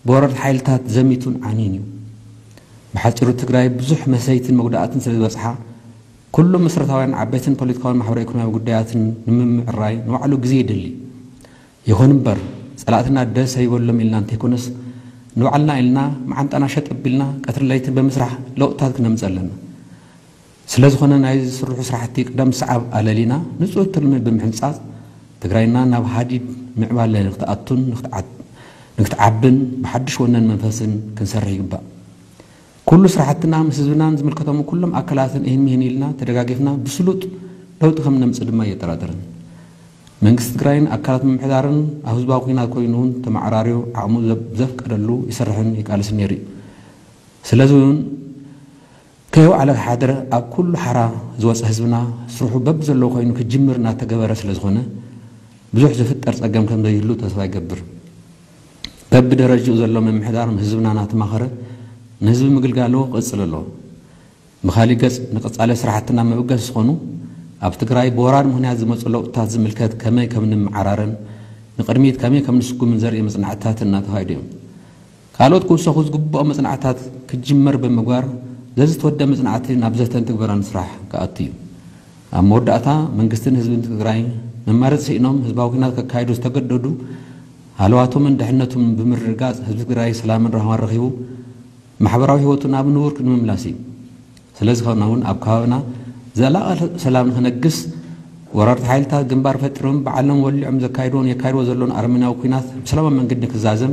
ብወረርቲ ሓይልታት ዘሚቱን ዓንዩን እዩ። ብሓፂሩ ትግራይ ብዙሕ መሰይትን መጉዳእትን ስለ ዝበፅሓ ኩሎም መሰረታውያን ዓበይትን ፖለቲካውን ማሕበረ ኢኮኖሚያዊ ጉዳያትን ንምምዕራይ ንባዕሉ ግዜ ይደሊ። ይኹን እምበር ፀላእትና ደስ ኣይበሎም ኢልና እንተይኮነስ ንባዕልና ኢልና መዓንጣና ሸጥ ኣቢልና ቀትርን ለይትን ብምስራሕ ለውጥታት ክነምፅእ ኣለና። ስለ ዝኾነ ናይ ዝስርሑ ስራሕቲ ቅደም ሰዓብ ኣለሊና ንፁር ትልሚ ብምሕንፃፅ ትግራይና ናብ ሃዲድ ምዕባለ ንክትኣቱን ንክትዓ- ንክትዓብን ብሓዱሽ ወነን መንፈስን ክንሰርሕ ይግባእ። ኩሉ ስራሕትና ምስ ህዝብናን ዝምልከቶም ኩሎም ኣካላትን ይህን ሚህን ኢልና ተደጋጊፍና ብስሉጥ ለውጢ ከም ነምፅእ ድማ የጠራጥርን። መንግስቲ ትግራይን ኣካላት ምምሕዳርን ኣብ ህዝባዊ ኩናት ኮይኑ እውን ተመዓራርዩ ዓቕሙ ዘብ- ዘፍቀደሉ ይሰርሕን ይቃልስን ነይሩ እዩ። ስለዚ እውን ከይወዓለ ክሓድር ኣብ ኩሉ ሓራ ዝወፀ ህዝብና ስርሑ በብዘለዎ ኮይኑ ክጅምር እናተገበረ ስለ ዝኾነ ብዙሕ ዝፍጠር ፀገም ከም ዘይህሉ ተስፋ ይገብር። በብደረጅኡ ዘሎ ምምሕዳር ህዝብና እናተማኸረ ንህዝቢ ምግልጋሉ ክቕፅል ኣለዎ። ብኻሊእ ገፅ ንቐፃሊ ስራሕትና መበገሲ ዝኾኑ ኣብ ትግራይ ብወራር ምኽንያት ዝመፁ ለውጥታት ዝምልከት ከመይ ከም ንምዓራረን ንቕድሚት ከመይ ከም ንስጉምን ዘርኢ መፅናዕትታት እናተኻየዱ እዮም። ካልኦት ክውሰኹ ዝግብኦም መፅናዕትታት ክጅመር ብምግባር ዘዝተወደ መፅናዕቲ ናብ ዘተን ትግበራን ስራሕ ክኣቱ እዩ። ኣብ መወዳእታ መንግስትን ህዝብን ትግራይ መማረፂ ስኢኖም ህዝባዊ ኩናት ከካይዱ ዝተገደዱ ሃለዋቶምን ድሕነቱን ብምርግጋፅ ህዝቢ ትግራይ ሰላምን ራህዋን ረኺቡ ማሕበራዊ ህይወቱ ናብ ንቡር ንምምላስ እዩ። ስለዝኾነ እውን ኣብ ከባቢና ዘላቒ ሰላም ንክነግስ ወረርቲ ሓይልታት ግንባር ፈጢሮም ባዕሎም ወሊዖም ዘካይድዎን የካይድዎ ዘለውን ኣረመኔያዊ ኲናት ብሰላማዊ መንገዲ ክዛዘም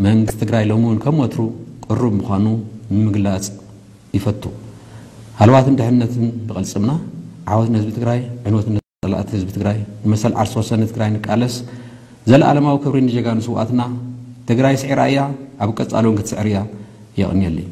መንግስቲ ትግራይ ሎሚ እውን ከም ወትሩ ቅሩብ ምዃኑ ንምግላፅ ይፈቱ። ሃለዋትን ድሕነትን ብቐልፅምና ዓወት ንህዝቢ ትግራይ፣ ዕንወት ንፀላእቲ ህዝቢ ትግራይ፣ ንመሰል ዓርሰ ወሰን ትግራይ ንቃለስ። ዘለኣለማዊ ክብሪ ንጀጋኑ ስውኣትና። ትግራይ ስዒራ እያ፣ ኣብ ቀፃሊ እውን ክትስዕር እያ። የቕንየለይ።